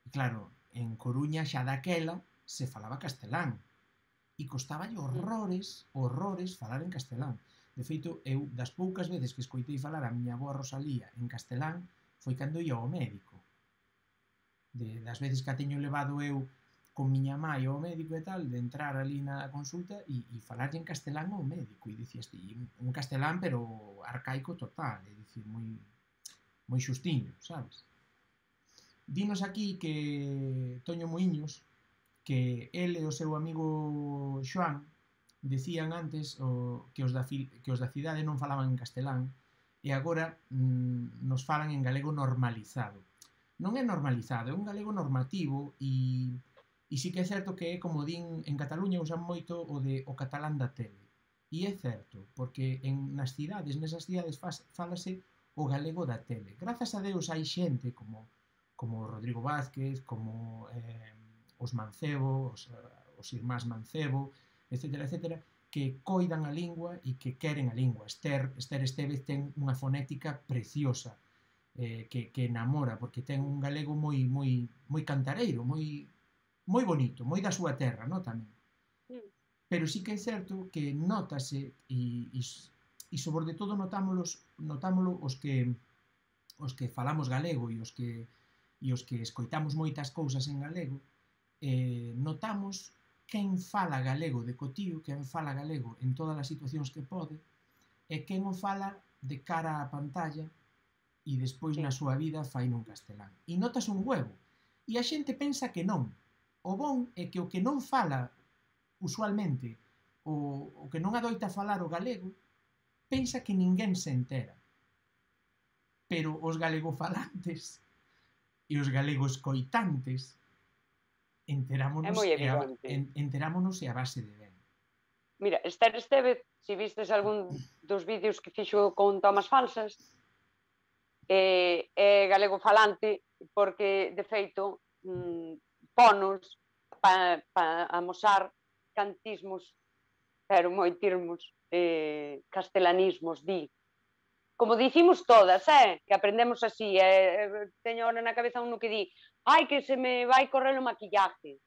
E claro, en Coruña xa daquela se falaba castelán e costaballe horrores falar en castelán. De feito, eu das poucas veces que escoitei falar a miña avoa Rosalía en castelán foi cando ia ao médico. Das veces que a teño levado eu con miña mãe ao médico e tal, de entrar ali na consulta e falarlle en castelán ao médico, e dicías ti, un castelán pero arcaico total, é dicir, moi xustiño, sabes? Dinos aquí que Toño Muiños, que el e o seu amigo Xoán decían antes que os da cidade non falaban en castelán e agora nos falan en galego normalizado. Non é normalizado, é un galego normativo e sí que é certo que é, como din en Cataluña, usan moito o catalán da tele. E é certo, porque nesas cidades fálase o galego da tele. Grazas a Deus hai xente como Rodrigo Vázquez, como os Mancebo, os irmáns Mancebo, etcétera, que coidan a lingua e que queren a lingua. Esther Estévez ten unha fonética preciosa, que enamora, porque ten un galego moi cantareiro, moi bonito, moi da súa terra, non, tamén. Pero sí que é certo que nótase e sobre todo notámolo os que falamos galego e os que escoitamos moitas cousas en galego, notamos quen fala galego de cotío, quen fala galego en todas as situacións que pode, e quen o fala de cara á pantalla e despois na súa vida fai nun castelán. E notas un huevo. E a xente pensa que non. O bon é que o que non fala usualmente, o que non adoita falar o galego, pensa que ninguén se entera. Pero os galegofalantes e os galegos coitantes enterámonos e a base de ben. Mira, Esther Estévez, se vistes algún dos vídeos que fixo con tomas falsas, é galegofalante porque, de feito, ponos para amosar cantismos, pero moitirmos castelanismos, como dicimos todas, que aprendemos así, teño ahora na cabeza uno que di, ai, que se me vai correr o maquillaje,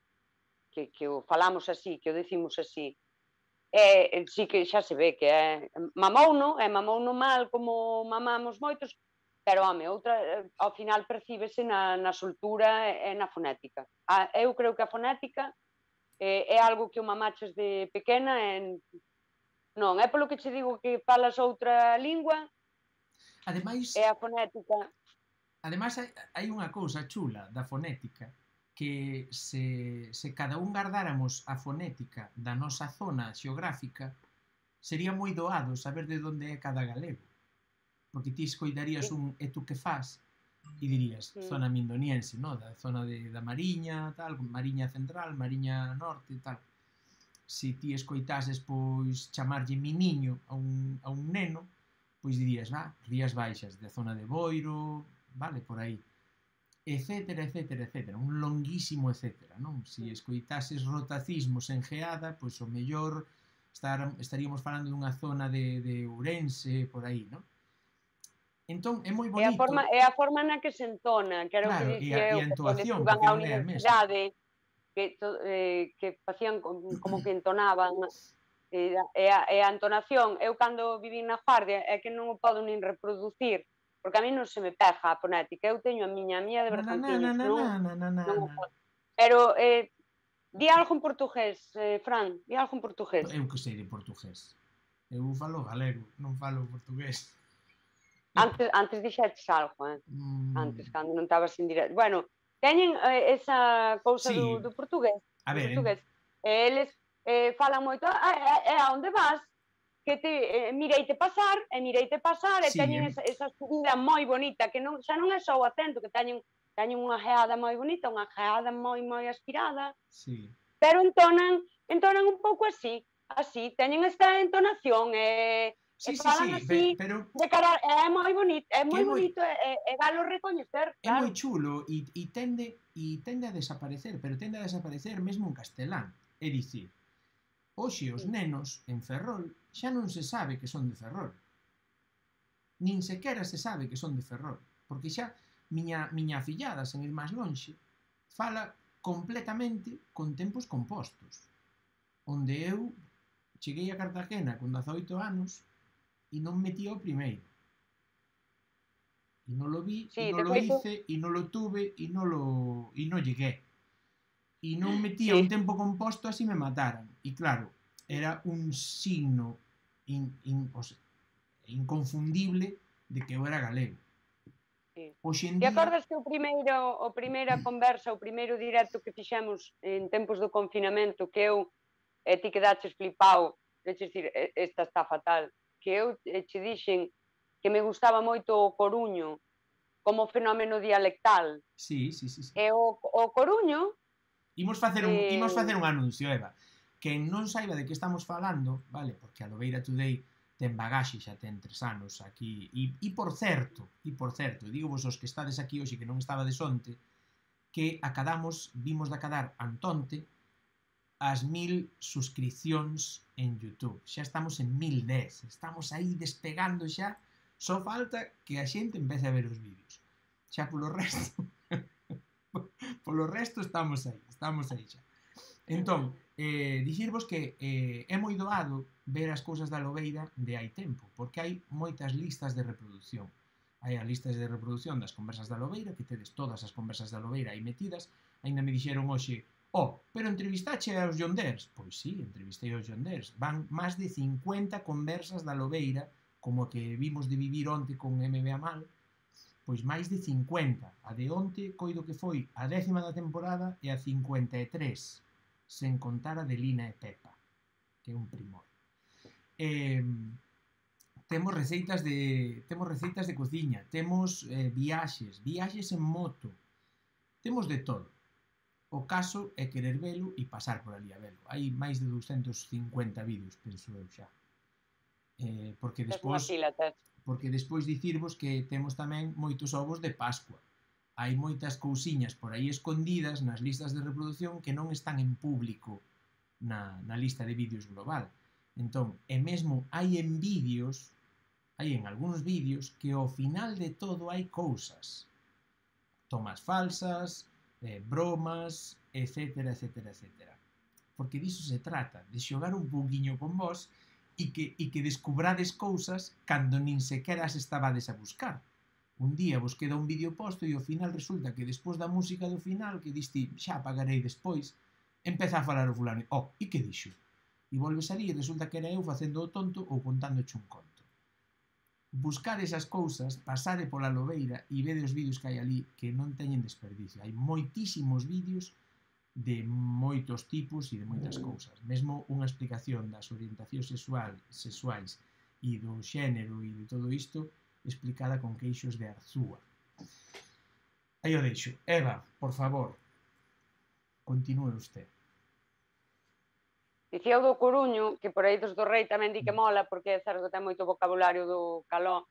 que o falamos así, que o decimos así. sí que xa se ve que mamouno mal como mamamos moitos, pero, home, ao final percíbese na soltura e na fonética. Eu creo que a fonética é algo que o mamaches de pequena e non, é polo que che digo que falas outra lingua, Ademais, é a fonética. Ademais, hai unha cousa chula da fonética que se cada un guardáramos a fonética da nosa zona xeográfica, sería moi doado saber de onde é cada galego. Porque ti escoitarías un "e tú que fas?" e dirías zona mindoniense, no? Da zona da Mariña, tal, Mariña Central, Mariña Norte, tal. Se ti escoitases, pois, chamarlle miniño a un neno, pois dirías, Rías Baixas, da zona de Boiro, vale, por aí, etcétera, etcétera, etcétera, un longuísimo etcétera, non? Se escoitases rotacismos en Geada, pois o mellor estaríamos falando dunha zona de Ourense, por aí, non? Entón, é moi bonito. É a forma na que se entona, que era o que dicía eu, e a entoación, que porque iban á non é a mesma. universidade, que facían como que entonaban, e a entonación, eu cando vivín na Guardia, é que non o podo nin reproducir, porque a mí non se me pega a fonética, eu teño a miña de Bergantiños, non o podo. Pero, di algo en portugués, Fran, di algo en portugués. Eu que sei de portugués. Eu falo galego, non falo portugués. Antes dixetes algo, antes, cando non estabas en directo. Bueno, teñen esa cousa do portugués. A ver, eles falan moito, a onde vas? Que mireite pasar, e teñen esa subida moi bonita, que xa non é só o acento, que teñen unha geada moi bonita, unha geada moi aspirada, pero entonan un pouco así, teñen esta entonación, falan así, pero de cara, é moi bonito, é galo recoñecer, É claro. moi chulo e tende a desaparecer, pero tende a desaparecer mesmo en castelán. É dicir, hoxe os nenos en Ferrol xa non se sabe que son de Ferrol. Nin sequera se sabe que son de Ferrol, porque xa miña afillada, sen ir máis lonxe, fala completamente con tempos compostos, onde eu cheguei a Cartagena con 18 anos e non metía o primeiro. E non lo vi, e non lo hice, e non lo tuve, e non llegué. E non metía un tempo composto, así me mataran. E claro, era un signo inconfundible de que eu era galego. Te acordas que a primeira conversa, o primeiro directo que fixemos en tempos do confinamento, que eu ti quedaches flipao, deches dicir, esta está fatal, que eu che dixen que me gustaba moito o coruño como fenómeno dialectal. Sí. E o coruño... Imos facer un anuncio, Eva. Quen non saiba de que estamos falando, vale, porque a Lobeira Today ten bagaxe, xa ten 3 anos aquí, e por certo, digo vos os que estades aquí hoxe que non estabades onte, que vimos de acadar antonte as 1000 suscripcións en YouTube. Xa estamos en 1010, estamos aí despegando xa, só falta que a xente empece a ver os vídeos. Xa polo resto estamos aí xa. Entón, dicirvos que é moi doado ver as cousas da Lobeira de hai tempo, porque hai moitas listas de reproducción. Hai as listas de reproducción das conversas da Lobeira, que tedes todas as conversas da Lobeira aí metidas. Ainda me dixeron hoxe, pero entrevistache aos Yonders? Pois sí, entrevistei aos Yonders. Van máis de 50 conversas da Lobeira, como a que vimos de vivir onte con MB Amal, pois máis de 50. A de onte, coido que foi a 10ª da temporada e a 53, sen contar a de Lina e Pepa, que é un primor. Temos receitas de cociña, temos viaxes en moto, temos de todo. O caso é querer velo e pasar por ali a velo. Hai máis de 250 vídeos, penso eu xa. Porque despois dicirvos que temos tamén moitos ovos de Pascua. Hai moitas cousiñas por aí escondidas nas listas de reproducción que non están en público na lista de vídeos global. Entón, e mesmo hai en algúns vídeos que ao final de todo hai cousas. Tomas falsas, bromas, etcétera. porque diso se trata, de xogar un pouquiño con vos e que descubrades cousas cando nin sequera as estabades a buscar. Un día vos queda un vídeo posto e ao final resulta que despois da música do final, que diste xa pagarei despois, empeza a falar o fulano, e que dixo? E volves ali e resulta que era eu facendo o tonto ou contándoche un conto. Buscade esas cousas, pasade pola lobeira e vede os vídeos que hai ali que non teñen desperdicio. Hai moitísimos vídeos de moitos tipos e de moitas cousas. Mesmo unha explicación das orientacións sexuais e do xénero e de todo isto explicada con queixos de Arzúa. Aí o deixo. Eva, por favor, continúe usted. Dicía o do Coruño, que por aí dos do Rei tamén di que mola, porque é certo que ten moito vocabulario do caló.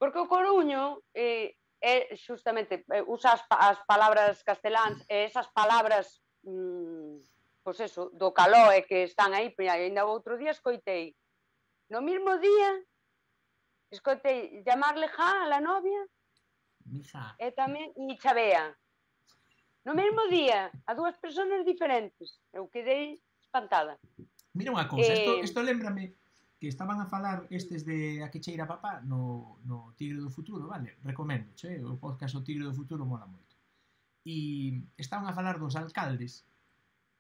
Porque o Coruño é justamente, usa as palabras casteláns, e esas palabras, pois eso, do caló, e que están aí, ainda o outro día escoitei, no mismo día, escoitei llamarle ja a la novia, e tamén, e chavea. No mesmo día, a dúas persoas diferentes. Eu quedei espantada. Mira unha cousa, isto lembrame que estaban a falar estes de A que cheira papá no Tigre do Futuro, vale? Recomendo, o podcast O Tigre do Futuro mola moito. E estaban a falar dos alcaldes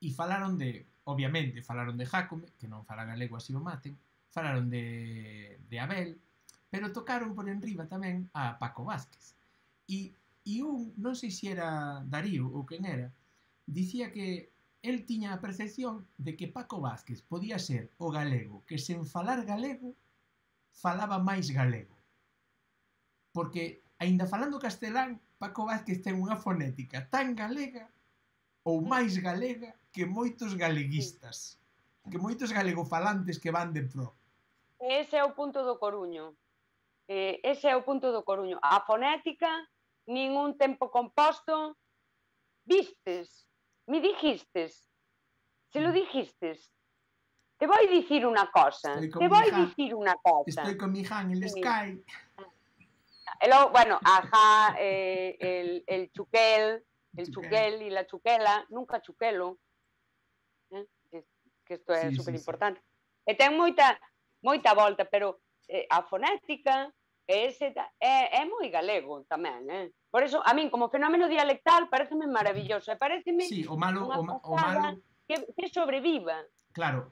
e falaron de, obviamente, falaron de Jácome, que non fala galego así o maten, falaron de Abel, pero tocaron por enriba tamén a Paco Vázquez. E un, non sei se era Darío ou quen era, dicía que el tiña a percepción de que Paco Vázquez podía ser o galego que sen falar galego falaba máis galego. Porque, aínda falando castelán, Paco Vázquez ten unha fonética tan galega ou máis galega que moitos galeguistas, que moitos galegofalantes que van de pro. Ese é o punto do Coruño. Ese é o punto do Coruño. A fonética, ningún tempo composto, vistes, me dijistes, se lo dijistes, te voy dicir una cosa, Estoy con mi Han, el Sky. Bueno, ajá, el chuquel, y la chuquela, nunca chuquelo, que isto é super importante. E ten moita volta, pero a fonética é moi galego tamén, Por eso, a min, como fenómeno dialectal, pareceme maravilloso. Pareceme o malo que sobreviva. Claro,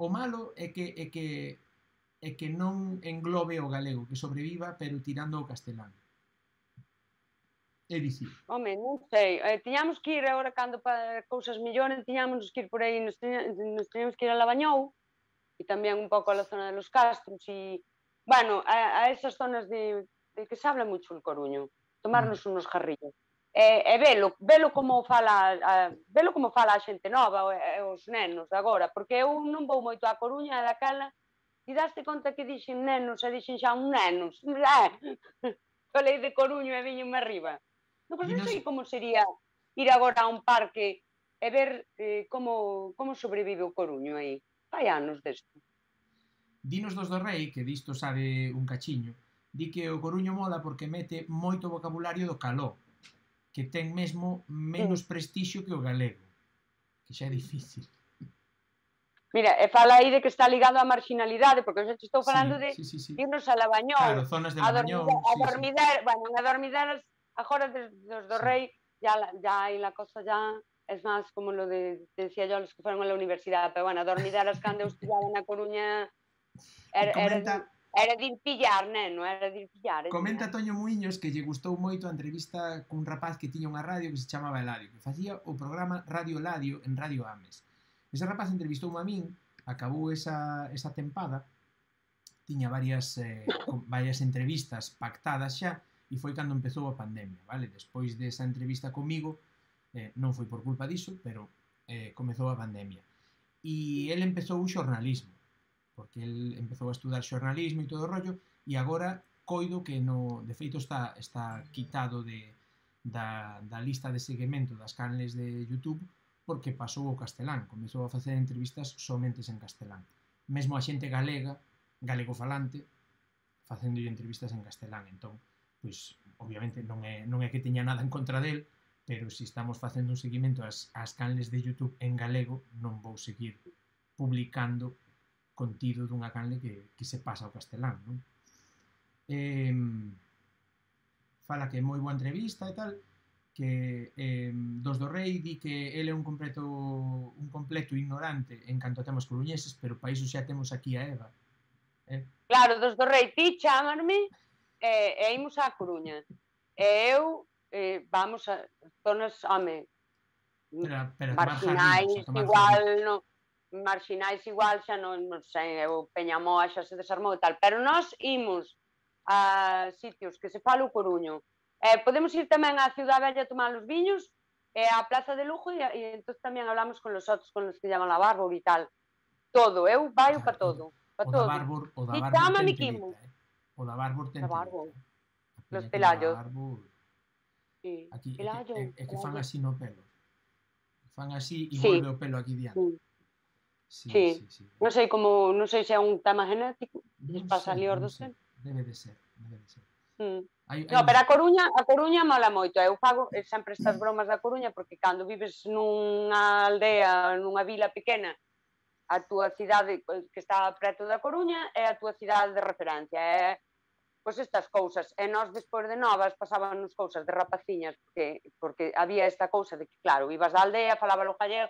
o malo é que non englobe o galego, que sobreviva, pero tirando o castelán. É dicir. Home, non sei. Tiñamos que ir agora, cando para cousas mellores, tiñamos que ir por aí, nos tiñamos que ir a Lavañou, e tamén un pouco a la zona de los Castros, e, bueno, a esas zonas de que se habla mucho el Coruño. Tomarnos unos jarrillos. E velo como fala a xente nova, os nenos agora, porque eu non vou moito á Coruña e daquela, e daste conta que dixen nenos e dixen xa un nenos. Falei de Coruño e viñenme arriba. Non sei como sería ir agora a un parque e ver como sobrevive o Coruño aí. Fai anos desto. Dinos dos do Rei, que disto sabe un cachiño, di que o Coruño mola porque mete moito vocabulario do caló, que ten mesmo menos prestixio que o galego, que xa é difícil. Mira, e fala aí de que está ligado á marginalidade, porque eu xa te estou falando de irnos a Lavañou, claro, zonas de Lavañou, a dormidar, bueno, a dormideras, agora dos do Rei, ya aí la cosa ya es máis como lo de, decía yo, los que fueron a la universidade, pero bueno, a dormideras cando eu estudiaba na Coruña, era de ir pillar, neno, era de ir pillar. Comenta Toño Muiños que lle gustou moito a entrevista cun rapaz que tiña unha radio que se chamaba Eladio, que facía o programa Radio Eladio en Radio Ames. Ese rapaz entrevistoume a min, acabou esa tempada, tiña varias entrevistas pactadas xa, e foi cando empezou a pandemia, vale? Despois desa entrevista comigo, non foi por culpa diso, pero comezou a pandemia. E ele empezou o xornalismo, porque el empezou a estudar xornalismo e todo o rollo, e agora coido que de feito está quitado da lista de seguimento das canles de YouTube, porque pasou o castelán, comezou a facer entrevistas somente en castelán. Mesmo a xente galega, galegofalante, facendo entrevistas en castelán. Entón, pois, obviamente, non é que teña nada en contra del, pero se estamos facendo un seguimento ás canles de YouTube en galego, non vou seguir publicando contido dunha canle que se pasa ao castelán, non? Fala que é moi boa entrevista e tal, que dos do Rei di que ele é un completo ignorante en canto a temas coruñeses, pero para iso xa temos aquí a Eva. Claro, dos do Rei, ti chámarme e imos á Coruña. E eu vamos a zonas, home, marxinais igual, no, marxinais igual xa non sei, eu Peñamoa xa se desarmou e tal, pero nós imos a sitios que se fala o coruño. Podemos ir tamén á Ciudad Bella a tomar os viños e á Plaza de Lugo e entón tamén hablamos con los outros, con los que llaman a Bárbaro e tal. Todo, eu vaio para todo. O da Bárbaro ten telita, o da Bárbaro ten telita. Los Pelallos. Aquí é que fan así no pelo. Fan así e volve o pelo aquí diante. Sí. Non sei como, non sei se é un tema genético, pasa ali os dos tempos. Debe de ser. No, pero a Coruña mola moito. Eu fago sempre estas bromas da Coruña porque cando vives nunha aldea, nunha vila pequena, a túa cidade que está preto da Coruña é a túa cidade de referencia. Pois estas cousas. E nós, despois de novas, pasábamos cousas de rapaciñas porque había esta cousa de que, claro, ibas da aldea, falaba o gallego,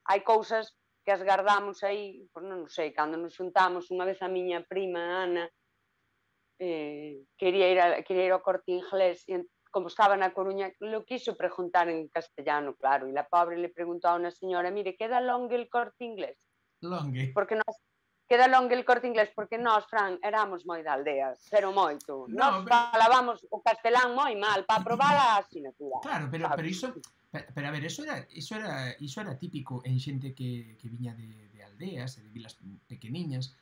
hai cousas que as guardamos aí, pois non sei, cando nos xuntamos unha vez a miña prima Ana quería ir ao Corte Inglés e como estaba na Coruña lo quiso preguntar en castellano, claro, e la pobre le preguntou a unha señora, mire, queda longe el Corte Inglés? Longe? Porque nós queda longe el Corte Inglés porque nós, Fran, éramos moi da aldea, pero moito. Nós falábamos o castelán moi mal para aprobar a asignatura. Claro, pero iso... Pero a ver, iso era típico en xente que viña de aldeas e de vilas pequeniñas,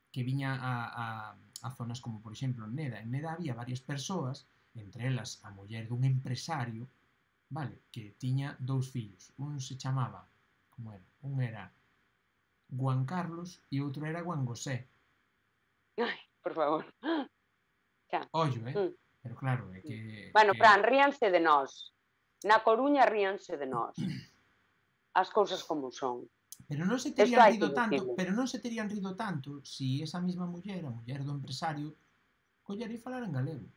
que viña a zonas como, por exemplo, en Neda. En Neda había varias persoas, entre elas a muller dun empresario, vale, que tiña 2 fillos. Un se chamaba, como era? Un era Juan Carlos e outro era Juan José. Ai, por favor. Ollo, pero claro, é que... Bueno, Fran, ríanse de nós. Na Coruña ríanse de nós. As cousas como son. Pero non se terían rido tanto si esa mesma muller, a muller do empresario, collera e falar en galego.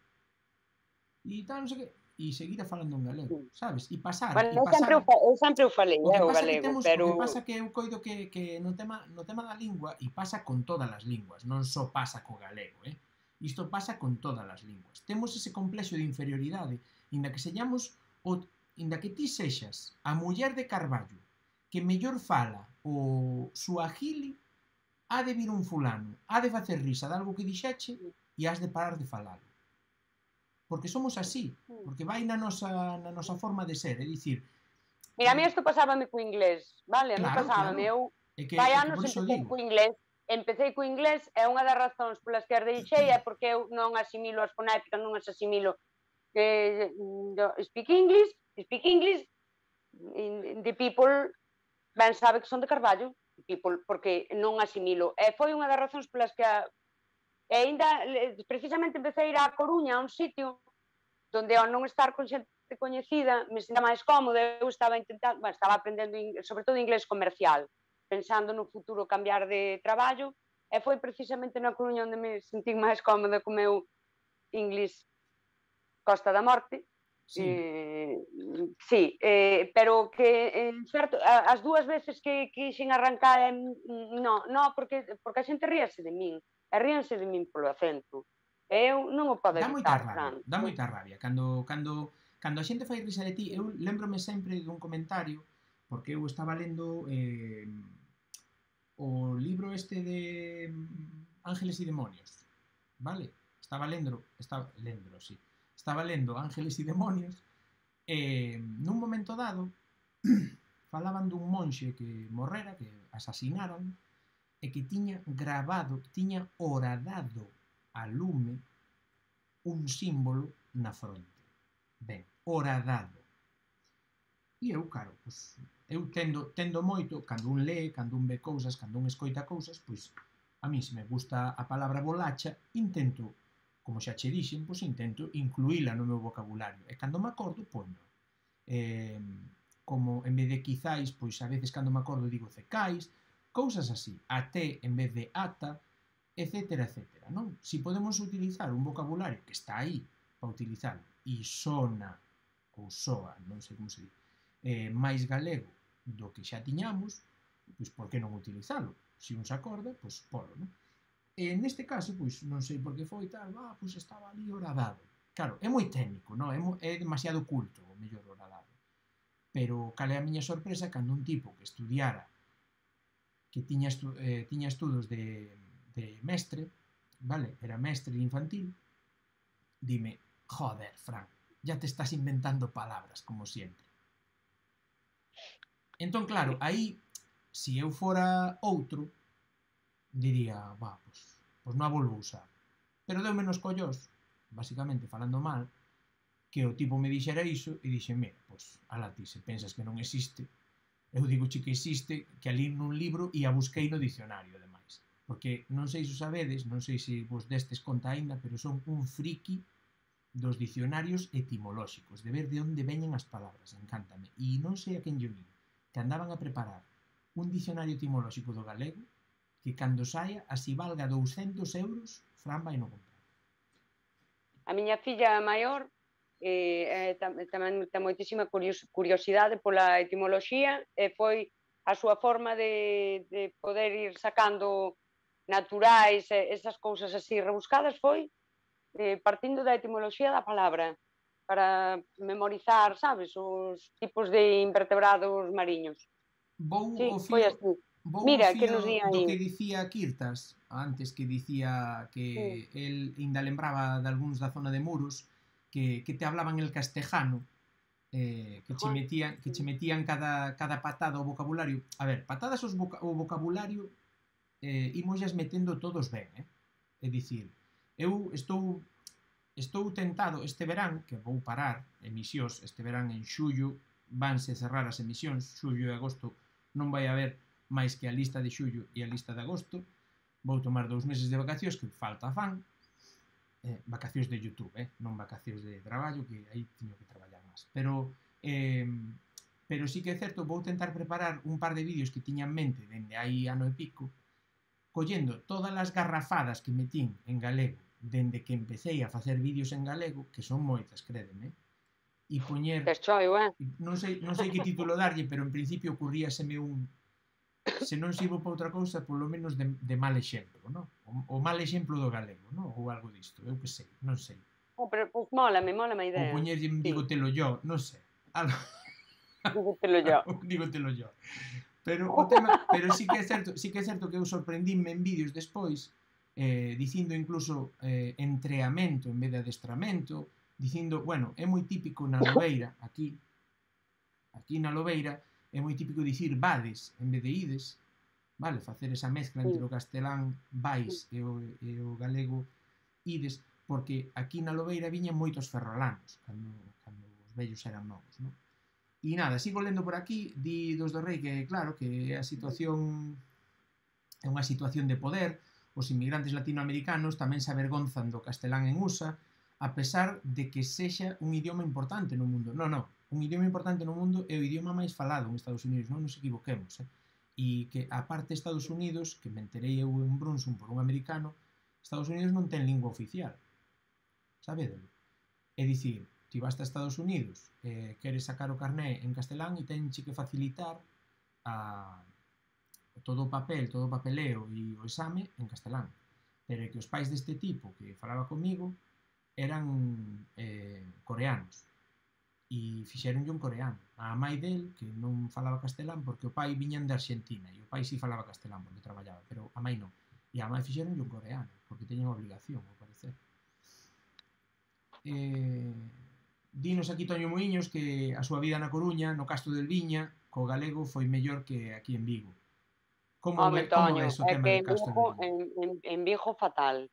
E tal, non sei que, e seguira falando en galego, sabes? E pasar. Bueno, eu sempre o falei, o galego, pero... O que pasa que eu coido que no tema da lingua, e pasa con todas as linguas, non só pasa co galego, Isto pasa con todas as linguas. Temos ese complexo de inferioridade, inda que señamos, inda que ti sexas a muller de Carballo, que mellor fala o suajili, ha de vir un fulano, ha de facer risa de algo que dixeche e has de parar de falalo. Porque somos así, porque vai na nosa forma de ser, é dicir... Mira, a mí isto pasábame co inglés, vale? A mí pasábame, eu vai anos empecé co inglés e unha das razóns polas que as deixei é porque eu non asimilo as fonéticas, non as asimilo speak English, the people ben sabe que son de Carballo, people, porque non asimilo. E foi unha das razóns polas que ainda, precisamente, empecé a ir á Coruña, a un sitio onde ao non estar con xente coñecida me sinta máis cómoda. Eu estaba aprendendo, sobre todo, inglés comercial, pensando no futuro cambiar de traballo, e foi precisamente na Coruña onde me sentí máis cómoda co meu inglés Costa da Morte. Sí, pero que certo, as dúas veces que quixen arrancar porque a xente ríase de min, e ríanse de min polo acento. Eu non o podo evitar, Fran. Dá moita rabia. Cando a xente fai risa de ti, eu lembrome sempre dun comentario, porque eu estaba lendo o libro este de Ángeles y Demonios, vale? Estaba lendo Ángeles y Demonios e nun momento dado falaban dun monxe que morrera, que asasinaran e que tiña horadado a lume un símbolo na fronte. Ben, horadado. E eu, claro, pois, eu tendo moito, cando un lee, cando un ve cousas, cando un escoita cousas, pois a mí se me gusta a palabra bolacha, intento como xa che dixen, pois intento incluíla no meu vocabulario. E cando me acordo, poño. Como en vez de quizáis, pois a veces cando me acordo digo cecais, cousas así, até en vez de ata, etcétera, etcétera, non? Si podemos utilizar un vocabulario que está aí para utilizarlo e sona ou soa, non sei como se di, máis galego do que xa tiñamos, pois por que non utilizalo? Se un se acorda, pois polo, non? E neste caso, pois non sei por que foi tal, pois estaba ali horadado. Claro, é moi técnico, non? É demasiado culto o mellor horadado. Pero cal é a miña sorpresa cando un tipo que estudiara, que tiña estudos de mestre, vale, era mestre infantil, dime, joder, Fran, ya te estás inventando palabras, como siempre. Entón, claro, aí, se eu fora outro, diría, pois non a volvo usar. Pero deu menos collós, basicamente falando mal, que o tipo me dixera iso e dixen, mira, pois, ala ti, se pensas que non existe, eu digo che que existe, que ali nun libro e a busquei no dicionario, ademais. Porque non sei se o sabedes, non sei se vos destes conta aínda, pero son un friki dos dicionarios etimolóxicos, de ver de onde veñen as palabras, encántame. E non sei a quen lle vin, que andaban a preparar un dicionario etimolóxico do galego que cando saia, así valga 200 euros, Fran vai no comprar. A miña filla maior tamén ten moitísima curiosidade pola etimoloxía e foi a súa forma de poder ir sacando naturais, esas cousas así rebuscadas foi partindo da etimoloxía da palabra para memorizar, sabes, os tipos de invertebrados mariños. Vou sí, o foi fío, así. vou Mira, o que fío nos di do aí. que dicía Kirtas, antes que dicía que el ainda lembraba de algúns da zona de Muros, que te hablaban el castejano, que che metían cada patada ao vocabulario. A ver, patadas o vocabulario imosas metendo todos ben, É dicir, eu estou tentado este verán, que vou parar emisións, este verán en xullo vanse cerrar as emisións, xullo e agosto non vai haber máis que a lista de xullo e a lista de agosto, vou tomar 2 meses de vacacións que falta fan, vacacións de YouTube, non vacacións de traballo, que aí teño que traballar máis. Pero sí que é certo, vou tentar preparar un par de vídeos que tiña en mente dende aí ano e pico, collendo todas as garrafadas que metín en galego dende que empecé a facer vídeos en galego, que son moitas, crédeme, e poñer... Non sei que título darlle, pero en principio ocurríaseme un... Se non sirvo para outra cousa, polo menos de mal exemplo, non? O mal exemplo do galego, non? Ou algo disto, eu que sei, non sei. Pero mólame a idea. Ou poñerlle dígotelo yo, non sei. Dígotelo yo. Pero o tema, pero sí que é certo que eu sorprendíme en vídeos despois, dicindo incluso entreamento en vez de adestramento, dicindo, bueno, é moi típico na Lobeira, aquí na Lobeira, é moi típico dicir vades en vez de ides, vale, facer esa mezcla entre o castelán vais e o galego ides, porque aquí na Lobeira viñan moitos ferrolanos, cando os vellos eran novos, non? E nada, sigo lendo por aquí, di dos do Rei que, claro, que a situación é unha situación de poder, os inmigrantes latinoamericanos tamén se avergonzan do castelán en USA, a pesar de que sexa un idioma importante no mundo. Non, un idioma importante no mundo é o idioma máis falado en Estados Unidos, non nos equivoquemos, E que, aparte de Estados Unidos, que me enterei eu en Brunson por un americano, Estados Unidos non ten lingua oficial. Sabedelo? É dicir, ti vas a Estados Unidos, queres sacar o carné en castelán e tenche que facilitar todo o papel, todo o papeleo e o exame en castelán. Pero que os pais deste tipo que falaba comigo eran coreanos e fixeronlle un coreano. A mãe del, que non falaba castelán porque o pai viñan de Argentina e o pai si falaba castelán porque traballaba, pero a mãe non. E a mãe fixeronlle un coreano porque teñen obligación, ao parecer. Dinos aquí Toño Muiños que a súa vida na Coruña, no Castro del Viña, co galego foi mellor que aquí en Vigo. Como é o tema de Castro del Viña? En Vigo fatal.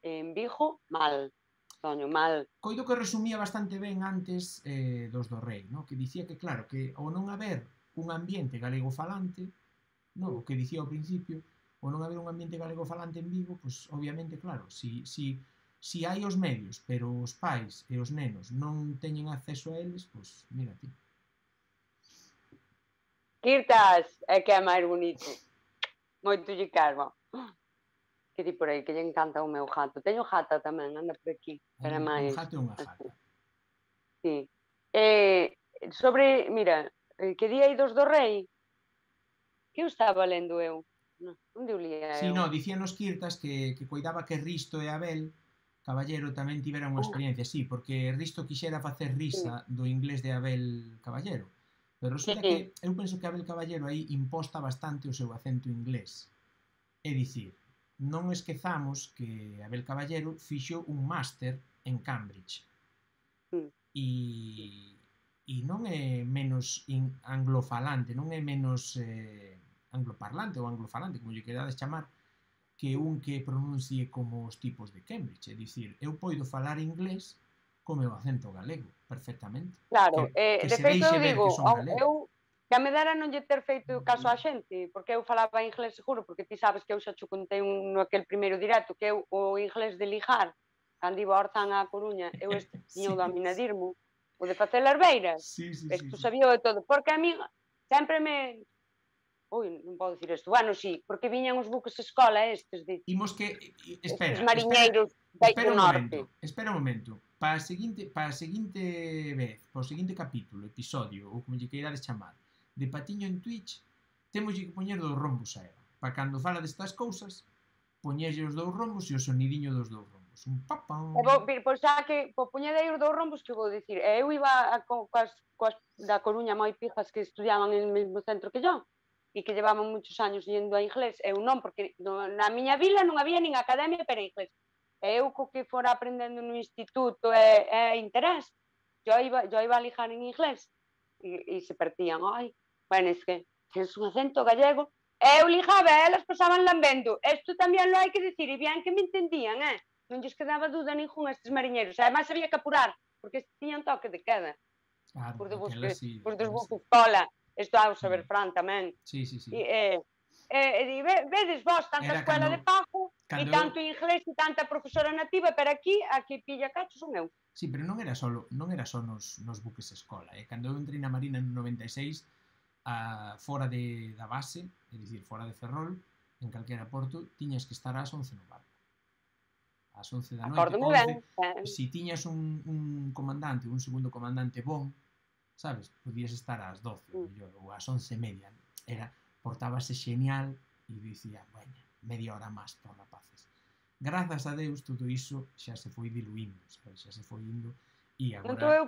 En Vigo mal. Toño, mal. Coido que resumía bastante ben antes dos do Rei, no? Que dicía que, claro, que ao non haber un ambiente galego falante, no? O que dicía ao principio, ao non haber un ambiente galego falante en Vigo, pues obviamente, claro, si Si hai os medios, pero os pais e os nenos non teñen acceso a eles, pois mira ti. Kirtas é que é máis bonito. Moito lle cargo. Que di por aí que lle encanta o meu gato. Teño gata tamén, anda por aquí. Pero é Un máis... gato e unha gata. Sí. Sobre, mira, que día idos do rei, que eu estaba lendo eu? Onde o lía Si, eu? no, dicíanos Kirtas que coidaba que Risto e Abel Caballero tamén tiveran unha experiencia, sí, porque Risto quixera facer risa do inglés de Abel Caballero. Pero resulta que eu penso que Abel Caballero aí imposta bastante o seu acento inglés. É dicir, non esquezamos que Abel Caballero fixo un máster en Cambridge. E non é menos anglofalante, non é menos angloparlante ou anglofalante, como lle querades chamar, que un que pronuncie como os tipos de Cambridge. É dicir, eu poido falar inglés co meu acento galego, perfectamente. Claro, que de se feito deixe eu ver digo, que son galego. eu que a me dera non lle ter feito caso a xente, porque eu falaba inglés seguro, porque ti sabes que eu xa cho contei no aquel primeiro directo, que eu o inglés de lijar, cando iba a Orzán a Coruña, eu tiña o dominadirmo, o de facer herbeiras, isto sabía de todo, porque a mí sempre me... Ui, non podo dicir isto. Bueno, sí, porque viñan os buques escola estes de... Imos que... Espera, mariñeiros espera do norte. Espera un momento. Para a seguinte vez, para o seguinte capítulo, episodio, ou como lle queirades chamar, de Patiño en Twitch, temos que poñer dos rombos a ela. Para cando fala destas cousas, poñerlle os dous rombos e o sonidiño dos dous rombos. Un papán. Pois xa que poñedei os dous rombos que vou dicir. Eu iba coas da Coruña moi pijas que estudiaban en o mesmo centro que yo e que llevaban muchos años yendo a inglés. Eu non, porque na miña vila non había nin academia para inglés. Eu co que fora aprendendo no instituto e interés, yo iba a lijar en inglés e se partían. Ai, bueno, es que tens un acento gallego. Eu lijaba e elas pasaban lambendo. Isto tamén lo hai que dicir, e bien que me entendían, non lles quedaba dúda ningún a estes mariñeiros. Ademais había que apurar, porque tiñan toque de queda. Claro, Por dos buques sí. escola. Isto ao saber Fran tamén. Sí. E vedes vos tanta escuela de pago e tanto inglés e tanta profesora nativa, pero aquí pilla cacho son eu. Sí, pero non era só nos buques escola. Cando eu entrei na Marina no 96, fora da base, é dicir, fora de Ferrol, en calquera porto, tiñas que estar ás 11 no barco. Ás 11 da noite. Si tiñas un comandante, un segundo comandante bon, sabes, podías estar ás 12 ou ás 11:30. Portábase genial e dicía, bueno, media hora máis por rapaces. Grazas a Deus, todo iso xa se foi diluindo, sabes? Xa se foi indo e agora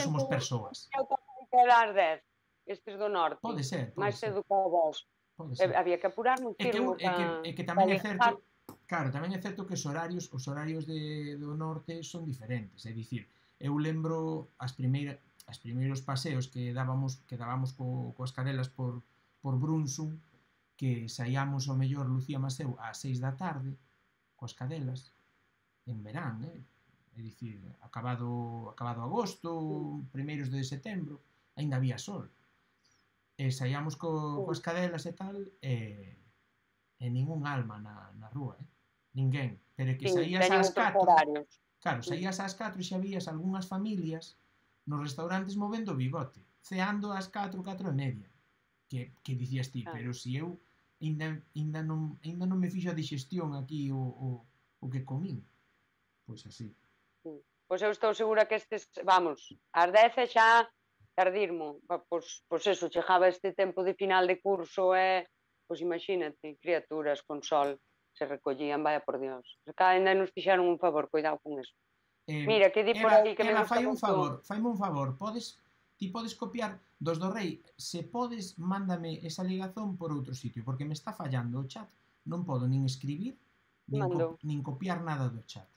somos persoas. Que dar 10, estes do norte. Pode ser. Máis educados. Había que apurar muchísimo. É que tamén é certo, claro, tamén é certo que os horarios do norte son diferentes, é dicir, eu lembro os primeiros paseos que dábamos coas cadelas por Brunsum, que saíamos ao mellor Lucía Maseu ás 6 da tarde coas cadelas en verán, é dicir, acabado agosto, primeiros de setembro, aínda había sol, e saíamos coas cadelas e tal, e ningún alma na rúa, ninguén, pero que saías ás 4, claro, saías ás 4 e xa vías algunhas familias nos restaurantes movendo o bigote, ceando ás 4:30, que dicías ti, pero si eu ainda non me fixo a digestión aquí o que comín. Pois así. Pois eu estou segura que estes, vamos, ás 10 xa tardirmo. Pois eso, chegaba este tempo de final de curso e, pois imagínate, criaturas con sol se recollían, vaya por Dios. Ainda nos fixaron un favor, cuidado con eso. Mira, que di por aí que me gusta moito. Faime un favor, ti podes copiar dos do rei, se podes, mándame esa ligazón por outro sitio, porque me está fallando o chat, non podo nin escribir, nin copiar nada do chat.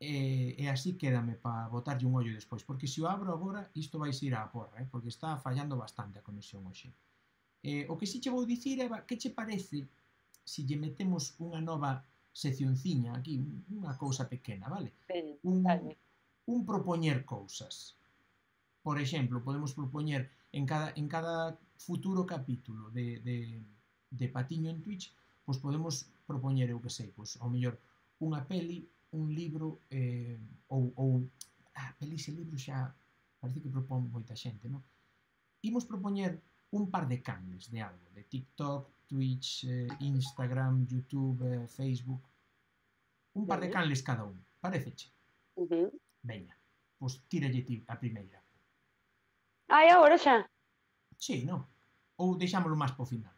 E así quédame para botarlle un ollo despois, porque se o abro agora, isto vai ir á porra, porque está fallando bastante a conexión hoxe. O que si che vou dicir, Eva, que che parece se lle metemos unha nova seccionciña aquí, unha cousa pequena, vale? Un propoñer cousas. Por exemplo, podemos propoñer en cada futuro capítulo de Patiño en Twitch, pois podemos propoñer, eu que sei, pois ao mellor unha peli un libro pelis e libros xa parece que propón moita xente, non? Imos propoñer un par de canles de algo, de TikTok, Twitch, Instagram, YouTube, Facebook, un par de canles cada un, pareceche? Veña, pois tíralle ti a primeira. Ai, agora xa? Sí, non? Ou deixámoslo máis po final?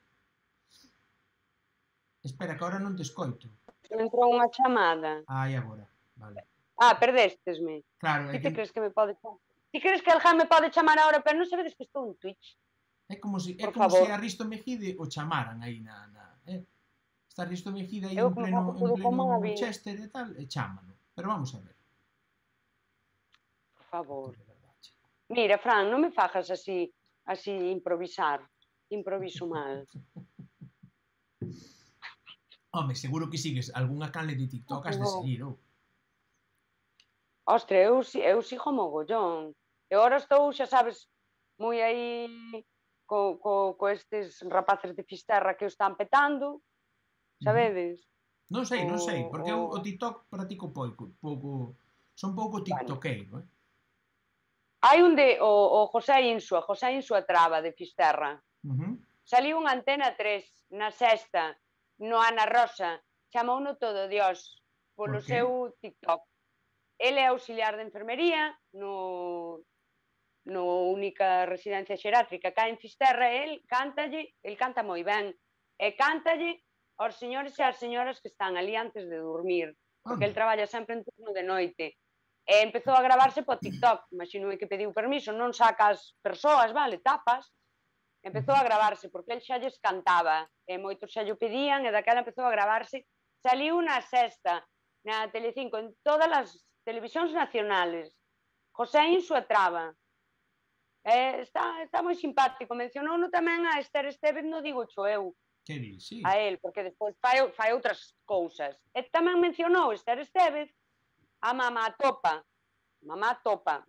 Espera, que agora non te escoito. Entrou unha chamada. Ai, agora, vale. Perdéstesme. Claro, Ti te crees que me pode chamar? Ti crees que alguén me pode chamar agora, pero non sabedes que estou en Twitch? É como se a Risto Mejide o chamaran aí está Risto Mejide aí en pleno Chester e tal, e chámano. Pero vamos a ver. Por favor. Mira, Fran, non me fajas así improvisar. Improviso mal. Home, seguro que sigues algunha canle de TikTok has de seguir, ou? Ostra, eu sigo mogollón. E agora estou, xa sabes, moi aí co estes rapaces de Fisterra que o están petando, sabedes? Non sei, porque o TikTok practico pouco, son pouco tiktokeiro, Hai un de o José Insua Traba de Fisterra. Saliu unha Antena 3 na Sexta, no Ana Rosa, chamouno todo Dios polo seu TikTok. Ele é auxiliar de enfermería no única residencia xeriátrica cá en Fisterra, el canta moi ben, e cántalle aos señores e ás señoras que están ali antes de dormir, porque el traballa sempre en turno de noite. E empezou a gravarse po TikTok, imagino que pediu permiso, non sacas persoas, vale, tapas. Empezou a gravarse, porque el xa lles cantaba, e moitos xa llo pedían, e daquela empezou a gravarse. Saliu na Sexta, na Telecinco, en todas as televisións nacionales. José Insua Traba. Está moi simpático. Mencionouno tamén a Esther Estevez, no digo cho eu. Que di, sí. A él, porque despois fai outras cousas. E tamén mencionou Esther Estevez a Mamá Topa. Mamá Topa,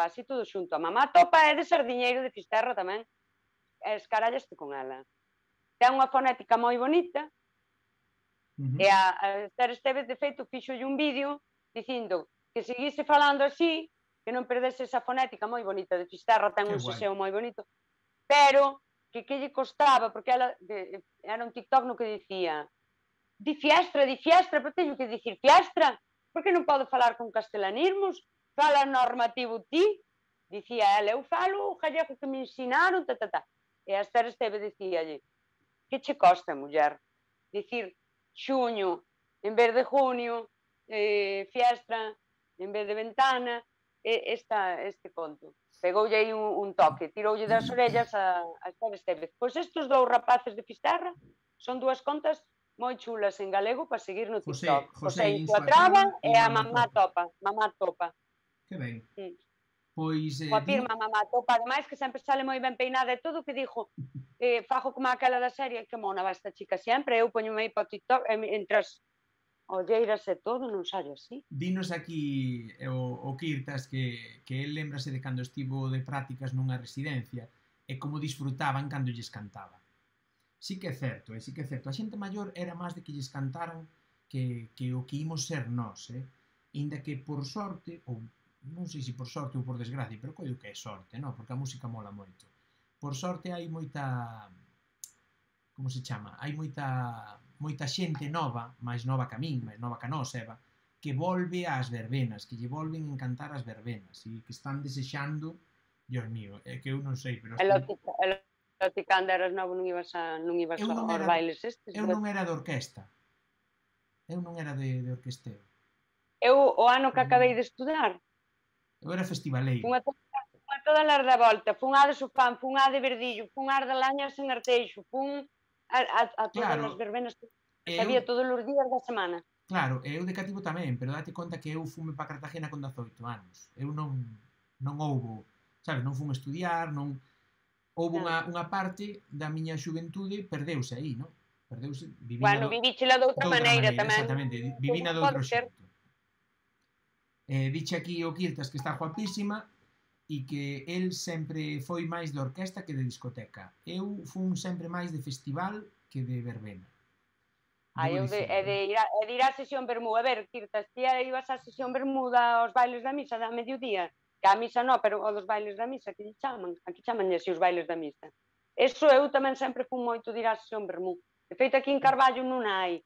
así todo xunto. A Mamá Topa é de Sardiñeiro de Fisterra tamén. Escarallaste con ela. Ten unha fonética moi bonita, e a Esther Estevez, de feito, fixolle un vídeo dicindo que seguise falando así, que non perdese esa fonética moi bonita de Fisterra, ten un seseo moi bonito, pero que lle costaba, porque ela era un TikTok no que dicía di fiestra, pero teño que dicir fiestra, porque non podo falar con castelanismos, fala normativo ti, dicía ela, eu falo o gallego que me ensinaron, e a Esther Esteve dicíalle, que che costa, muller, dicir xuño en vez de junio, fiestra en vez de ventana, este conto. Pegoulle aí un toque, tiroulle das orellas a Esther Estevez. Pois estes dous rapaces de Fisterra son dúas contas moi chulas en galego para seguir no TikTok. José Insua Traba e a Mamá Topa. Que ben. Pois... Coa firma Mamá Topa, ademais, que sempre sale moi ben peinada e todo, que dixo, fajo como aquela da serie, que mona va esta chica sempre, eu poño aí para o TikTok, entre as olleiras e todo, non saio así. Dinos aquí o Kirtas que el lembrase de cando estivo de prácticas nunha residencia e como disfrutaban cando lles cantaba. Sí que é certo, A xente maior era máis de que lles cantaran que o que imos ser nós, Inda que por sorte, ou non sei se por sorte ou por desgracia, pero coido que é sorte, non? Porque a música mola moito. Por sorte hai moita... Como se chama? Hai moita xente nova, máis nova que a min, máis nova que a nós, Eva, que volve ás verbenas, que lle volven encantar as verbenas, e que están desexando, Dios mío, é que eu non sei, pero... Ti cando eras novo non ibas aos bailes estes? Eu non era de orquesta. Eu non era de orquesteo. Eu, o ano que acabei de estudar, eu era festivaleiro. Fun a todas as da volta, fun a de Sofán, fun a de Verdillo, fun a de Lañas en Arteixo, fun a todas as verbenas que había todos os días da semana. Claro, eu de cativo tamén, pero date conta que eu fume para Cartagena con 18 anos. Eu non houbo, sabes, non fun estudiar, non... Houve unha parte da miña xuventude perdeuse aí, non? Perdeuse, vivíchela de outra maneira tamén. Exactamente, vivina de outro xeito. Diche aquí o Kirtas que está guapísima e que el sempre foi máis de orquesta que de discoteca. Eu fun sempre máis de festival que de verbena. Debo dicirlo. E de ir á sesión Bermú. A ver, Kirtas, ti ibas á sesión Bermuda aos bailes da misa da mediodía, que a misa non, pero o dos bailes da misa, que lle chaman, aquí chaman así os bailes da misa. Eso eu tamén sempre fui moito de ir á sesión Bermú. De feito, aquí en Carballo non hai,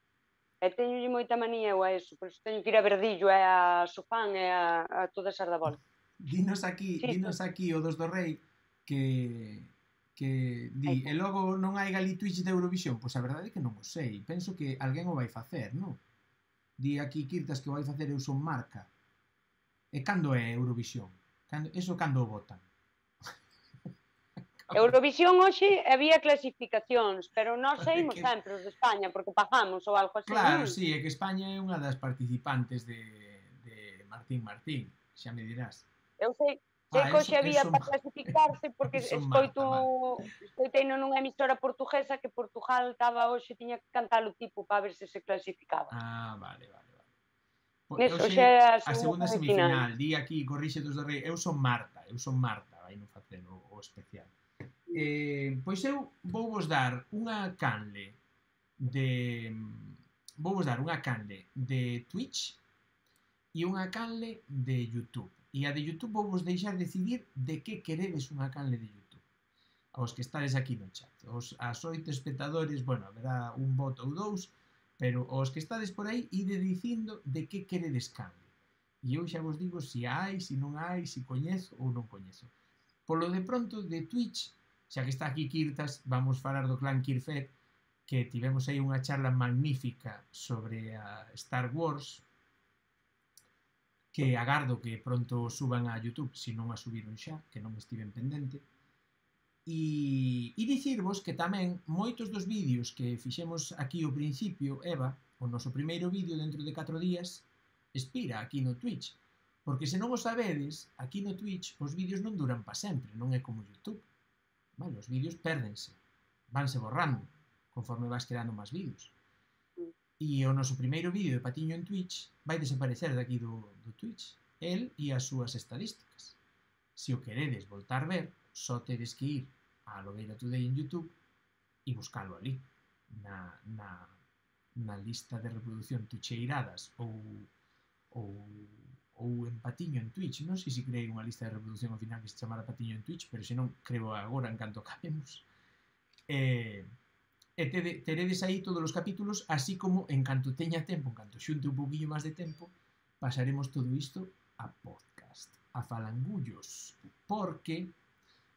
e teñolle moita manía eu a eso, por eso teño que ir a Verdillo, e a Sofán, e a todas as da volta. Dinos Sí, aquí o dos do Rei que di, e logo non hai Gali Twitch de Eurovisión. Pois a verdade é que non o sei. Penso que alguén o vai facer, non? Di aquí Kirtas que o vai facer Eu Son Marca. E cando é Eurovisión? Cando o votan? Eurovisión hoxe había clasificacións, pero nós saímos sempre os de España, porque pagamos ou algo así, Claro, non? sí, é que España é unha das participantes de Martín, xa me dirás. Eu sei que hoxe había para clasificarse porque escoitei nunha emisora portuguesa que Portugal estaba hoxe, tiña que cantar o tipo para ver se calificaba. Ah, vale. Hoxe é a segunda semifinal. Di aquí, corrixe dos do Rei, eu son Marta, vai non facer o especial. Pois eu vou vos dar unha canle de Twitch e unha canle de YouTube. E a de YouTube vou vos deixar decidir de que queredes unha canle de YouTube. Aos que estades aquí no chat. As 8 espectadores, bueno, haberá un voto ou dous, pero os que estades por aí, ide dicindo de que queredes canle. E eu xa vos digo se hai, se non hai, se coñezo ou non coñezo. Polo de pronto, de Twitch, xa que está aquí Kirtas, vamos falar do clan Kirfet, que tivemos aí unha charla magnífica sobre a Star Wars, que agardo que pronto suban a YouTube, se non a subiron xa, que non estiven pendente. E dicirvos que tamén moitos dos vídeos que fixemos aquí ao principio, Eva, o noso primeiro vídeo dentro de 4 días, expira aquí no Twitch. Porque se non o sabedes, aquí no Twitch os vídeos non duran para sempre, non é como YouTube. Vale, os vídeos pérdense, vanse borrando, conforme vas creando máis vídeos. E o noso primeiro vídeo de Patiño en Twitch vai desaparecer daqui do Twitch, el e as súas estadísticas. Se o queredes voltar ver, só tedes que ir a Lobeira Today en YouTube e buscalo ali, na lista de reproducción tucheiradas ou en Patiño en Twitch. Non sei se creei unha lista de reproducción ao final que se chamara Patiño en Twitch, pero se non, creo agora en canto acabemos. E teredes aí todos os capítulos, así como en canto teña tempo, en canto xunte un pouquinho máis de tempo, pasaremos todo isto a podcast, a falangullos, porque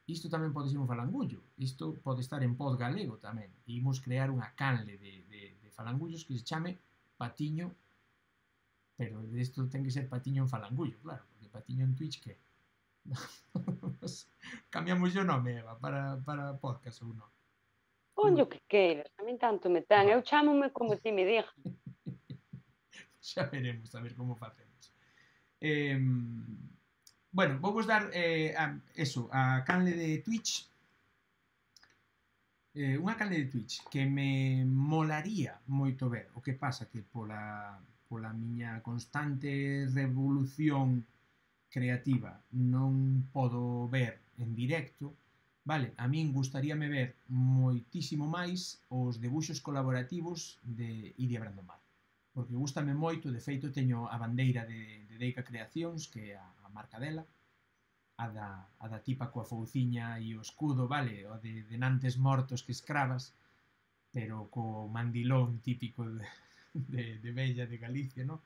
isto tamén pode ser un falangullo, isto pode estar en pod galego tamén, e imos crear unha canle de falangullos que se chame Patiño, pero isto ten que ser Patiño en falangullo, claro, porque Patiño en Twitch, que? Cambiamos o nome, Eva, para podcast ou non? Ponlle o que queiras, a min tanto me ten, eu chámome como ti me dixas. Xa veremos, a ver como facemos. Bueno, vou vos dar a canle de Twitch, unha canle de Twitch que me molaría moito ver. O que pasa que pola miña constante revolución creativa non podo ver en directo. Vale, a min gustaríame ver moitísimo máis os debuxos colaborativos de Iria Brandomar, porque gustame moito, de feito teño a bandeira de Deica Creacións, que é a marca dela, a da tipa coa fouciña e o escudo, vale, o de nantes mortos que escravas, pero co mandilón típico de Bella de Galicia, no?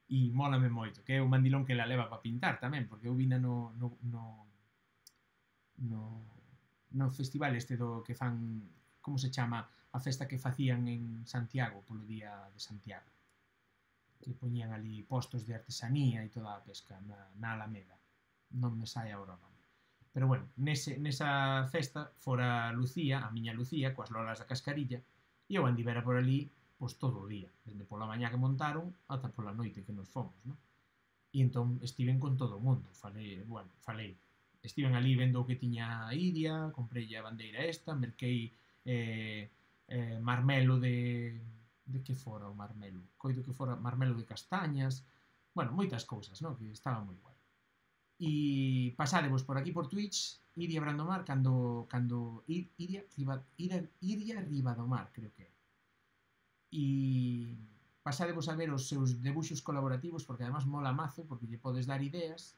E mólame moito, que é o mandilón que la leva para pintar tamén, porque eu vina no festival este do que fan, como se chama, a festa que facían en Santiago, polo día de Santiago, que poñían ali postos de artesanía e toda a pesca na Alameda, non me sai agora o nome. Pero bueno, nesa festa fora Lucía, a miña Lucía, coas lolas da Cascarilla, e eu andivera por ali pois todo o día, desde pola mañá que montaron ata pola noite que nos fomos, non? E entón estiven con todo o mundo, falei, estiven ali vendo o que tiña a Iria, comprei a bandeira esta, merquei marmelo de que fora o marmelo? Coido que fora marmelo de castañas, bueno, moitas cousas, non? Que estaba moi guai. E pasadevos por aquí por Twitch, Iria Brandomar, cando Iria Ribadomar, creo que é. e pasadevos a ver os seus debuxos colaborativos, porque además mola mazo, porque lle podes dar ideas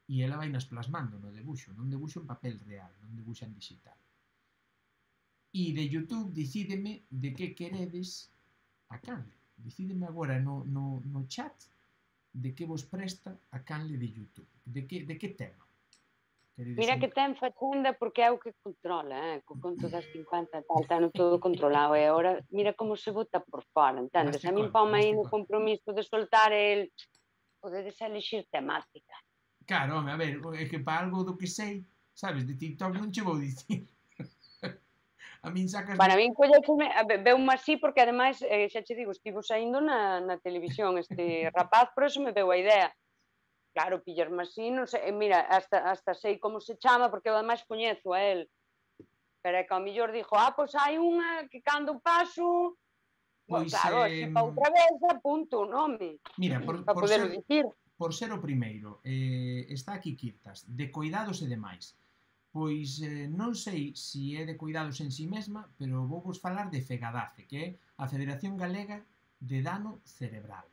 e ela vai nas plasmando no debuxo, non debuxo en papel real, non debuxa en digital. E de YouTube decídeme de que queredes a canle. Decídeme agora no chat de que vos presta a canle de YouTube. De que tema? Mira que ten facenda porque é o que controla, co conto das 50 tal, ten todo controlado, e agora mira como se bota por fora, entendes? A min pome aí no compromiso de soltar el, podedes elixir temática. Claro, home, a ver, é que para algo do que sei, sabes, de TikTok non che vou dicir. A min sacas... Bueno, a min colleceme, veume así porque ademais, xa che digo, estivo saindo na televisión este rapaz, por eso me veu a idea. Claro, pillarme así, non sei, mira, hasta sei como se chama, porque eu ademais coñezo a él. Pero é que ao millor dixo, pois hai unha que cando paso, Pois, claro, se pa outra vez, apunto o nome. Mira, para poder dicir. Por ser o primeiro, está aquí Quirtas, de cuidados e demais. Pois non sei se é de cuidados en si mesma, pero vou vos falar de FEGADACE, que é a Federación Galega de Dano Cerebral,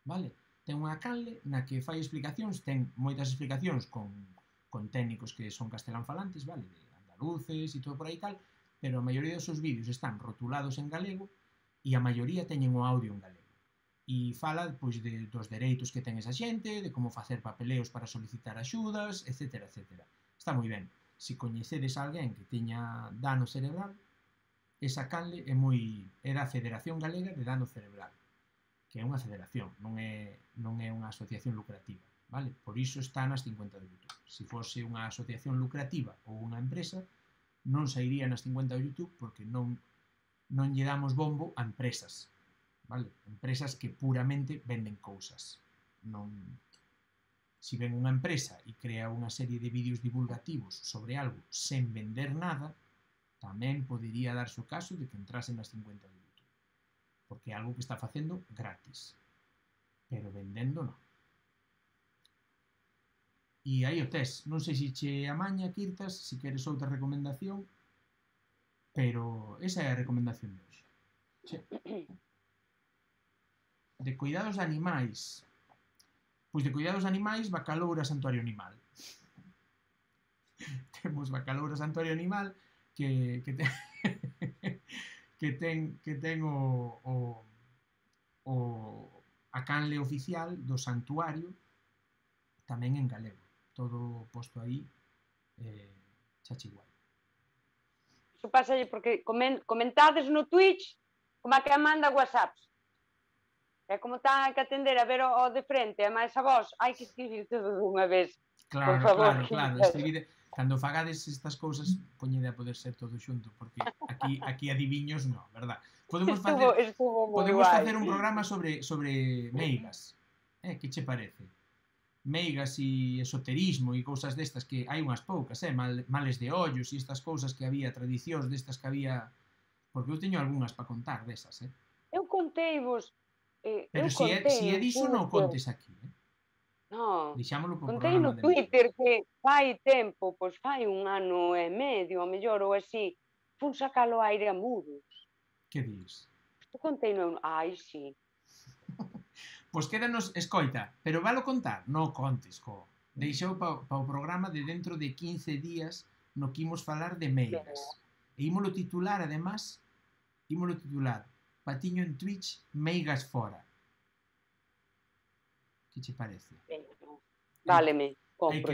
vale? Ten unha canle na que fai explicacións, ten moitas explicacións con técnicos que son castelán falantes, vale? De andaluces e todo por aí tal, pero a maioría dos seus vídeos están rotulados en galego e a maioría teñen o audio en galego. E fala pois, dos dereitos que ten esa xente, de como facer papeleos para solicitar axudas, etc. etc. Está moi ben. Se coñecedes a alguén que teña dano cerebral, esa canle é da Federación Galega de Dano Cerebral, que é unha federación, non é unha asociación lucrativa, vale? Por iso está nas 50 de YouTube. Se fose unha asociación lucrativa ou unha empresa, non sairía nas 50 de YouTube porque non lle damos bombo a empresas, vale? Empresas que puramente venden cousas. Non... Se ven unha empresa e crea unha serie de vídeos divulgativos sobre algo sen vender nada, tamén podería darse o caso de que entrasen nas 50 de YouTube. Porque é algo que está facendo gratis, pero vendendo non. E aí o tes, non sei se che amaña, Quirtas, se queres outra recomendación, pero esa é a recomendación de hoxe. De cuidados de animais, pois de cuidados de animais, Bacaloura Santuario Animal. Temos Bacaloura Santuario Animal que ten a canle oficial do santuario tamén en galego, todo posto aí chachigual. Iso pasa porque comentades no Twitch como a que manda WhatsApps. É como está que atender a ver o de frente, e máis a vos, hai que escribir todo dunha vez. Claro, por favor, claro, escribide. Cando fagades estas cousas, poñede a poder ser todo xunto, porque aquí adiviños non, verdad? Podemos facer un programa sobre meigas. Que che parece? Meigas e esoterismo e cousas destas que hai unhas poucas, males de ollos e estas cousas que había, tradicións destas que había, porque eu teño algunhas para contar desas, Eu conteivos. Pero se é diso non contes aquí, No, deixámolo por contei no Twitter que fai tempo, pois fai un ano e medio, ao mellor, ou así, fun sacalo aire a Muros. Que dis? Contei no... Ai, sí. Pois quédanos, escoita, pero valo contar? Non contes, deixou pa o programa de dentro de 15 días no que imos falar de meigas. E ímolo titular, además, Patiño en Twitch, meigas fora. Que che parece? Váleme, compro.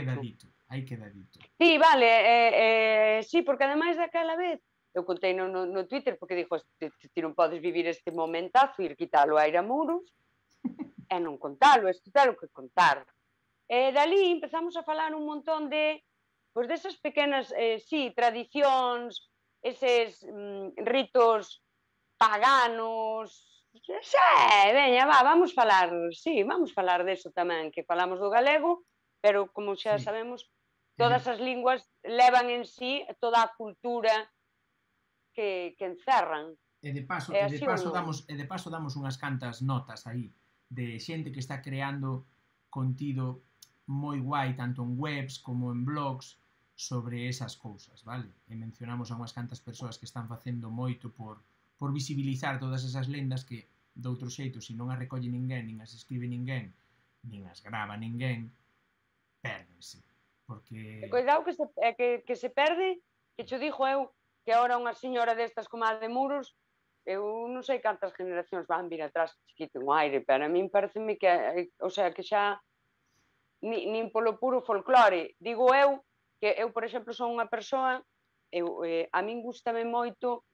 Hai quedadito. Sí, vale, sí, porque ademais daquela vez eu contei no Twitter porque dixo, ti non podes vivir este momentazo, ir quitalo a aire a Muros e non contalo, isto telo que contar. E dali empezamos a falar un montón de, pois desas pequenas, sí, tradicións, eses ritos paganos. Veña, vamos falar, sí, vamos falar deso tamén, que falamos do galego, pero como xa sabemos, todas as linguas levan en sí toda a cultura que encerran. E de paso damos unhas cantas notas aí de xente que está creando contido moi guai, tanto en webs como en blogs, sobre esas cousas, vale? E mencionamos a unhas cantas persoas que están facendo moito por por visibilizar todas esas lendas que, de outro xeito, se non as recolle ninguén, nin as escribe ninguén, nin as grava ninguén, pérdense. Porque... Cuidado que se perde, que xo dixo eu, que ahora unha señora destas como a de Muros, eu non sei cantas generacións van vir atrás que chiquito un aire, pero a min pareceme que, o sea, que xa nin polo puro folclore. Digo eu, que eu, por exemplo, son unha persoa, a min gustame moito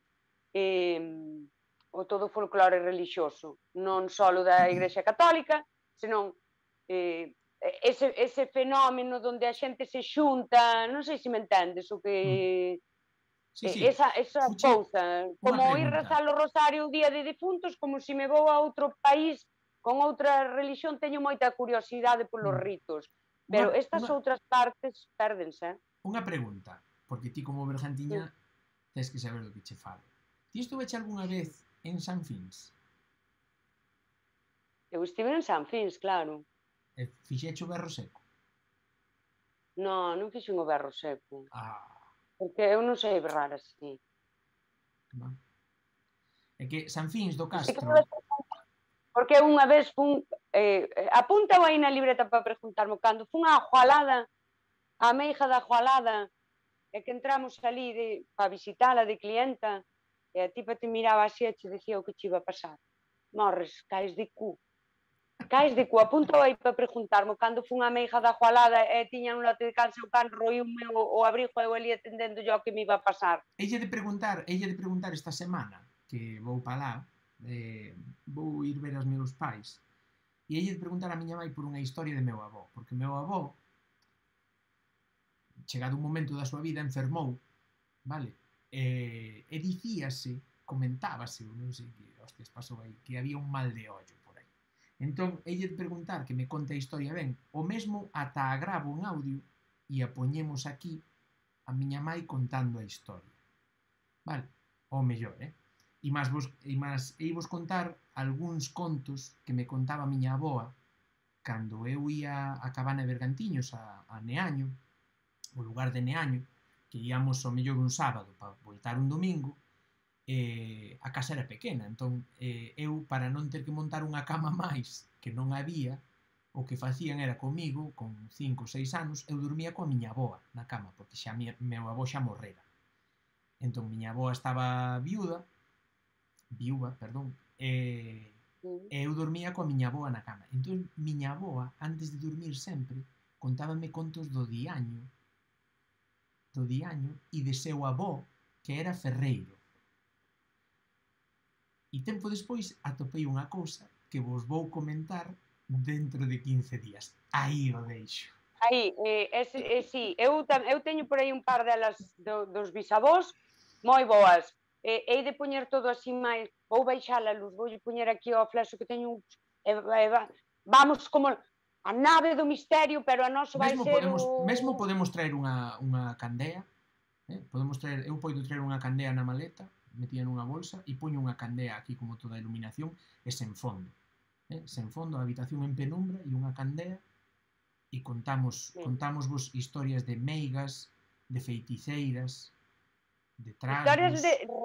o todo folclore religioso, non só da Igrexa Católica, senón ese fenómeno onde a xente se xunta, non sei se me entendes, o que... Sí, sí. Esa cousa, como ir rezar o rosario o día de difuntos, como se me vou a outro país con outra religión, teño moita curiosidade polos ritos, pero estas outras partes pérdense. Unha pregunta, porque ti como bergantiña tens que saber do que che falo. Ti estuveche algunha vez en San Fins? Eu estive en San Fins, claro. E fixeche o berro seco? Non fixen o berro seco. Ah... Porque eu non sei berrar así. É que San Fins do Castro... Porque unha vez fun... apunta aí na libreta para preguntarme cando fun á Jualada, á meiga da Jualada, e que entramos ali para visitala de clienta, e a tipa te miraba así e te dicía o que che iba a pasar. Morres, caes de cu. Caes de cu, apunta aí para preguntarme cando fun á meiga da Jualada e tiña un lote de cansa o can roíu o abrigo e eu ali atendendo yo o que me iba a pasar. Ella de preguntar esta semana que vou para lá, vou ir ver aos meus pais, e ella de preguntar a miña mãe por unha historia de meu avó, porque meu avó, chegado un momento da súa vida, enfermou, vale? E dicíase, comentábase, non sei que hostias pasou aí, que había un mal de ollo por aí. Entón, ella de preguntar que me conte a historia ben, o mesmo ata a gravo en audio e a poñemos aquí a miña mãe contando a historia. Vale? O mellor, E vos contar algúns contos que me contaba a miña aboa cando eu ia a Cabana de Bergantiños, a Neaño, o lugar de Neaño, que íamos ao mellor un sábado para voltar un domingo, a casa era pequena, entón eu, para non ter que montar unha cama máis que non había, o que facían era comigo, con 5 ou 6 anos, eu dormía coa miña aboa na cama, porque xa meu avó xa morrera. Entón, miña aboa estaba viúva, e eu dormía coa miña aboa na cama. Entón, miña aboa, antes de dormir sempre, contábame contos do diaño e de seu avó, que era ferreiro. E tempo despois atopei unha cousa que vos vou comentar dentro de 15 días. Aí o deixo. Aí, sí, eu teño por aí un par delas dos bisavós moi boas. Hei de poñer todo así máis, vou baixar a luz, vou poñer aquí ao flexo que teño vamos como a nave do misterio, pero a noso vai ser mesmo podemos traer unha candea, eu podo traer unha candea na maleta, metida nunha bolsa, e poño unha candea aquí como toda a iluminación, e sen fondo, a habitación en penumbra, e unha candea, e contámosvos historias de meigas, de feiticeiras, de trasgos, historias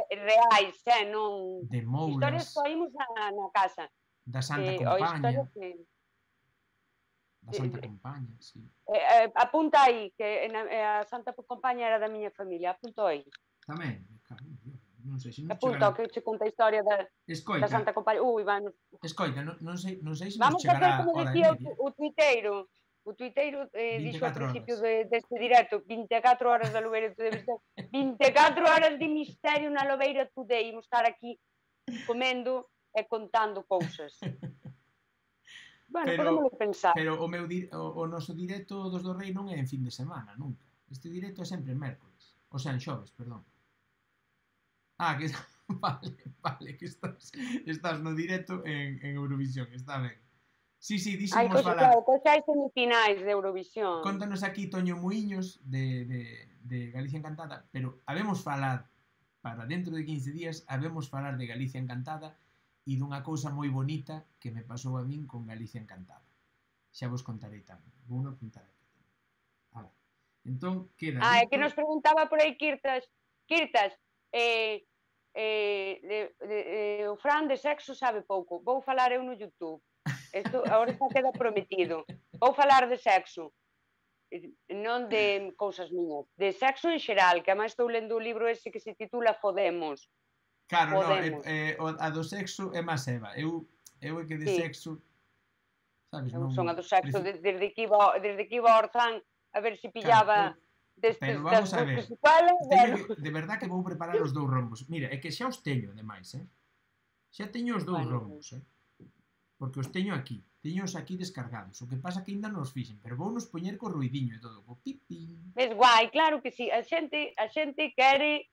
reais, non... de moulas, historias que oímos na casa. Da Santa Compaña. Da Santa Compaña, sí. Apunta aí, que a Santa Compaña era da miña familia, apunta aí. Tamén, non sei se non apunta que che conta a historia da Santa Compaña. Escoita, non sei se nos vamos chegará a facer como dicía o tuiteiro dixo ao principio deste directo, 24 horas da Lobeira Today, 24 horas de misterio na Lobeira Today, imos estar aquí comendo e contando cousas. Bueno, podemos pensar. Pero o noso directo dos do Rei non é en fin de semana, nunca. Este directo é sempre en mércoles. O sea, en xoves, perdón. Que vale, que estás no directo en Eurovisión, está ben. Sí, díxemos falar. Cousas semifinais de Eurovisión. Contanos aquí Toño Muiños de Galicia Encantada, pero habemos falar para dentro de 15 días, habemos falar de Galicia Encantada e dunha cousa moi bonita que me pasou a min con Galicia Encantada. Xa vos contarei tamén. Vou non apuntar aquí tamén. Entón, queda... que nos preguntaba por aí Kirtas, Fran de sexo sabe pouco. Vou falar eu no YouTube. Isto agora xa queda prometido. Vou falar de sexo. Non de cousas miñas. De sexo en xeral, que además estou lendo o libro ese que se titula Fodemos. Claro, no, Podemos. a do sexo é máis Eva. Eu é que de Sí. sexo, sabes, Eu non... son a do sexo desde que iba ao Orzán a ver se pillaba Pero das vamos a dúas ver, que se falan, bueno. de verdad que vou preparar os 2 rombos. Mira, é que xa os teño, ademais, xa teño os 2 rombos, porque os teño aquí. Teños aquí descargados. O que pasa que ainda non os fixen, pero vou nos poñer co ruidiño e todo, co pipín. Es guai, claro que sí. A xente quere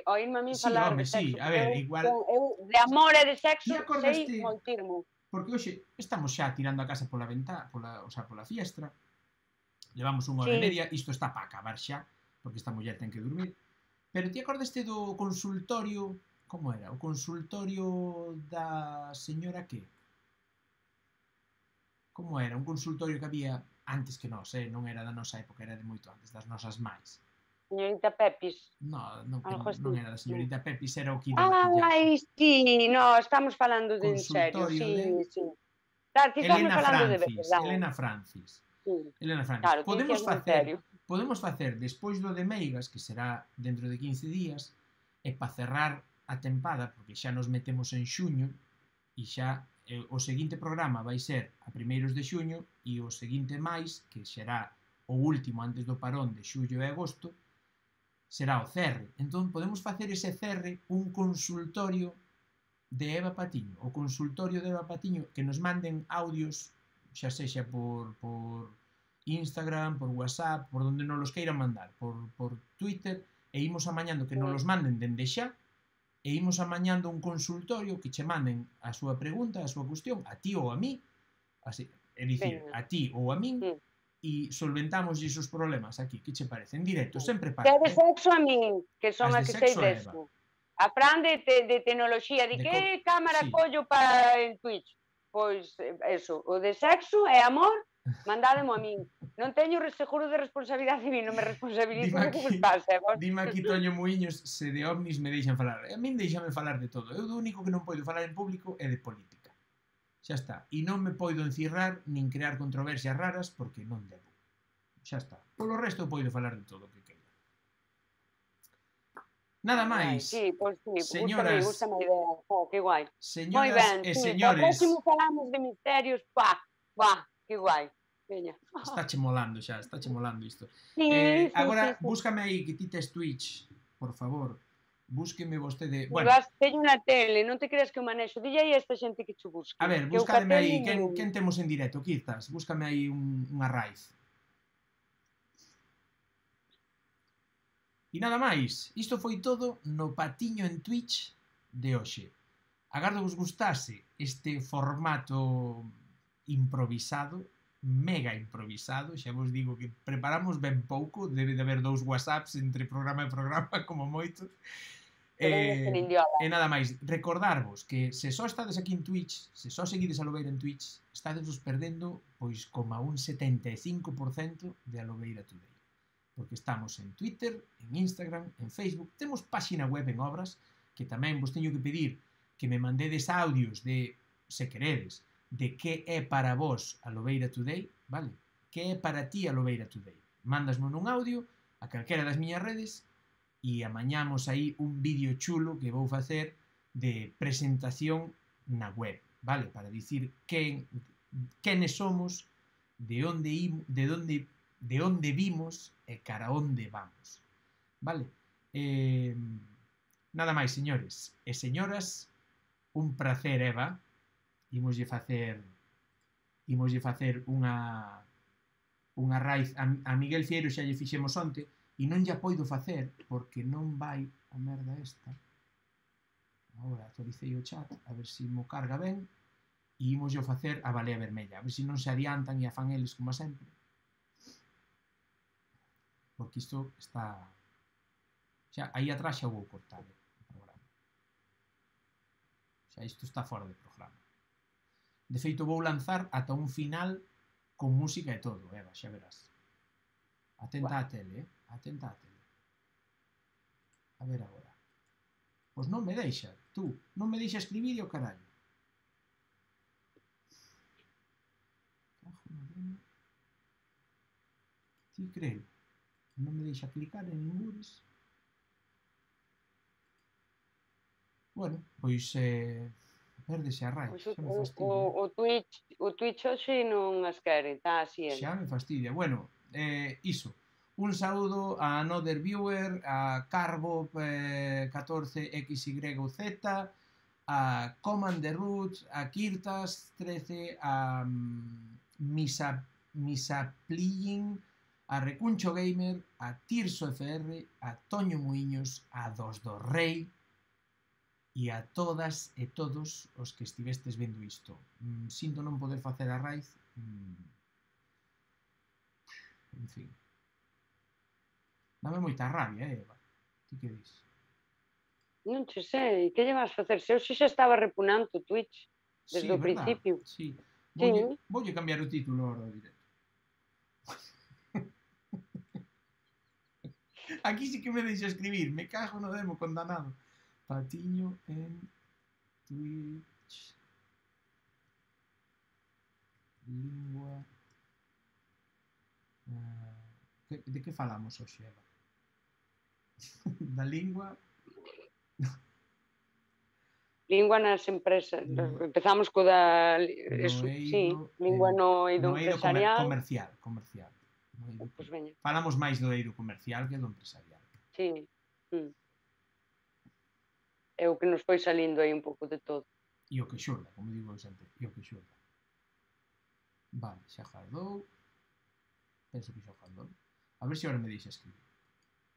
oírme a min Sí, falar home, de sexo. sí, a ver, igual... Eu de amor e de sexo Ti sei acordaste... moitirmo. Porque hoxe estamos xa tirando a casa pola ventá, pola fiestra. Levamos unha hora e media, isto está para acabar xa, porque esta muller ten que dormir. Pero ti acordaste do consultorio, como era? O consultorio da señora que? Como era? Un consultorio que había antes que nós, non era da nosa época, era de moito antes, das nosas máis. Señorita Pepis. Non era da señorita Pepis, era o que da maquillaje. Ai, sí, no, estamos falando de en serio, sí. Claro, que estamos falando de verdade. Elena Francis. Claro, podemos facer despois do de Meigas, que será dentro de 15 días, e para cerrar a tempada, porque xa nos metemos en xuño, e xa o seguinte programa vai ser a primeiros de xuño, e o seguinte máis, que será o último antes do parón de xullo e agosto, será o cerre. Entón podemos facer ese cerre un consultorio de Eva Patiño, o consultorio de Eva Patiño, que nos manden audios, xa sexa por Instagram, por WhatsApp, por donde nos los queiran mandar, por Twitter, e imos amañando que nos los manden dende xa, e imos amañando un consultorio que che manden a súa pregunta, a súa cuestión, a ti ou a mí, así, é dicir, a ti ou a min, e solventamos esos problemas aquí, que che parece? En directo, sempre para. Que de sexo a min, que son a que sei deso. A Fran de tecnoloxía, de que cámara collo para en Twitch? Pois, eso, o de sexo e amor, mandádemo a min. Non teño seguro de responsabilidade civil, non me responsabilizo do que vos pasa. Dime aquí, Toño Muiños, se de ovnis me deixan falar. A min deixame falar de todo. Eu do único que non podo falar en público é de política. Xa está. E non me podo encirrar nin crear controversias raras porque non debo. Xa está. Polo resto eu podo falar de todo o que queira. Nada máis. Sí, pois sí, señoras, gústame a idea. Que guai. Señoras e señores. O próximo falamos de misterios, que guai. Está che molando xa, está che molando isto. Sí, agora, búscame aí, que ti tes Twitch, por favor. Búsqueme vostede... Bueno, teño unha tele, non te creas que o manexo. Dille aí a esta xente que che busque. A ver, búscame aí, quen temos en directo? Aquí estás, búscame aí unha raíz. E nada máis, isto foi todo no Patiño en Twitch de hoxe. Agardo vos gustase este formato improvisado, mega improvisado, xa vos digo que preparamos ben pouco, debe de haber 2 WhatsApps entre programa e programa, como moito. E nada máis, recordarvos que se só estades aquí en Twitch, se só seguides a Lobeira en Twitch, estades vos perdendo pois como un 75% de Lobeira Today. Porque estamos en Twitter, en Instagram, en Facebook, temos páxina web en obras, que tamén vos teño que pedir que me mandedes audios de, se queredes, de que é para vos a Lobeira Today, vale? Que é para ti a Lobeira Today. Mandasme un audio a calquera das miñas redes e amañamos aí un vídeo chulo que vou facer de presentación na web, vale? Para dicir quenes somos, de onde vimos e cara onde vamos, vale? Nada máis, señores e señoras, un placer, Eva. Imoslle facer unha raíz a Miguel Fieiro, xa lle fixemos onte e non lla poido facer porque non vai a merda esta. Agora actualicei o chat a ver se mo carga ben e imoslle facer a balea vermella, a ver se non se adiantan e a fan eles como sempre, porque isto está xa aí atrás xa vou cortar o programa, xa isto está fora de programa. De feito, vou lanzar ata un final con música e todo, Eva, xa verás. Atenta á tele, Atenta á tele. A ver agora. Pois non me deixa. Tú, non me deixa escribir o carallo. Cajo na demo. Ti creo. Non me deixa clicar en ningures. Bueno, pois perdese a raíz, Pois xa me fastidia. o Twitch hoxe non as quere, está así. Xa me fastidia. Bueno, iso. Un saúdo a Another Viewer, a Carbo 14XYZ, a Command the Roots, a Kirtas 13, a Misaplying, a Recuncho Gamer, a Tirso FR, a Toño Muiños, a Dos do Rei e a todas e todos os que estivestes vendo isto. Sinto non poder facer a raíz. En fin. Dame moita rabia, Eva. Ti que dis? Non che sei, que lle vas facer? Se eu xa estaba repunando o Twitch desde o verdad? principio. Sí. Sí. Voulle cambiar o título ahora do directo. Aquí sí que me deixa escribir. Me cago no demo condenado. Patiño en Twitch. Lingua. De que falamos hoxe, Eva? Da lingua. Lingua nas empresas. Empezamos co da... Eso, sí, lingua no eido empresarial. Comercial. Pois veña. Falamos máis do eido comercial que do empresarial. Sí. É o que nos foi salindo aí un pouco de todo. E o que xorda, como digo sempre, e o que xorda. Vale, xa jardou. Penso que xa jardou. A ver se agora me deixa escribir.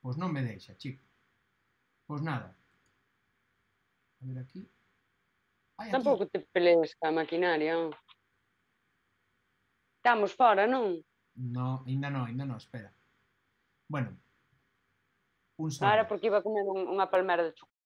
Pois non me deixa, chico. Pois nada. A ver aquí. Tampouco te pelees ca maquinaria. Estamos fora, non? No, ainda non, espera. Bueno. Un saúdo. Ahora porque iba a comer unha palmera de chocolate.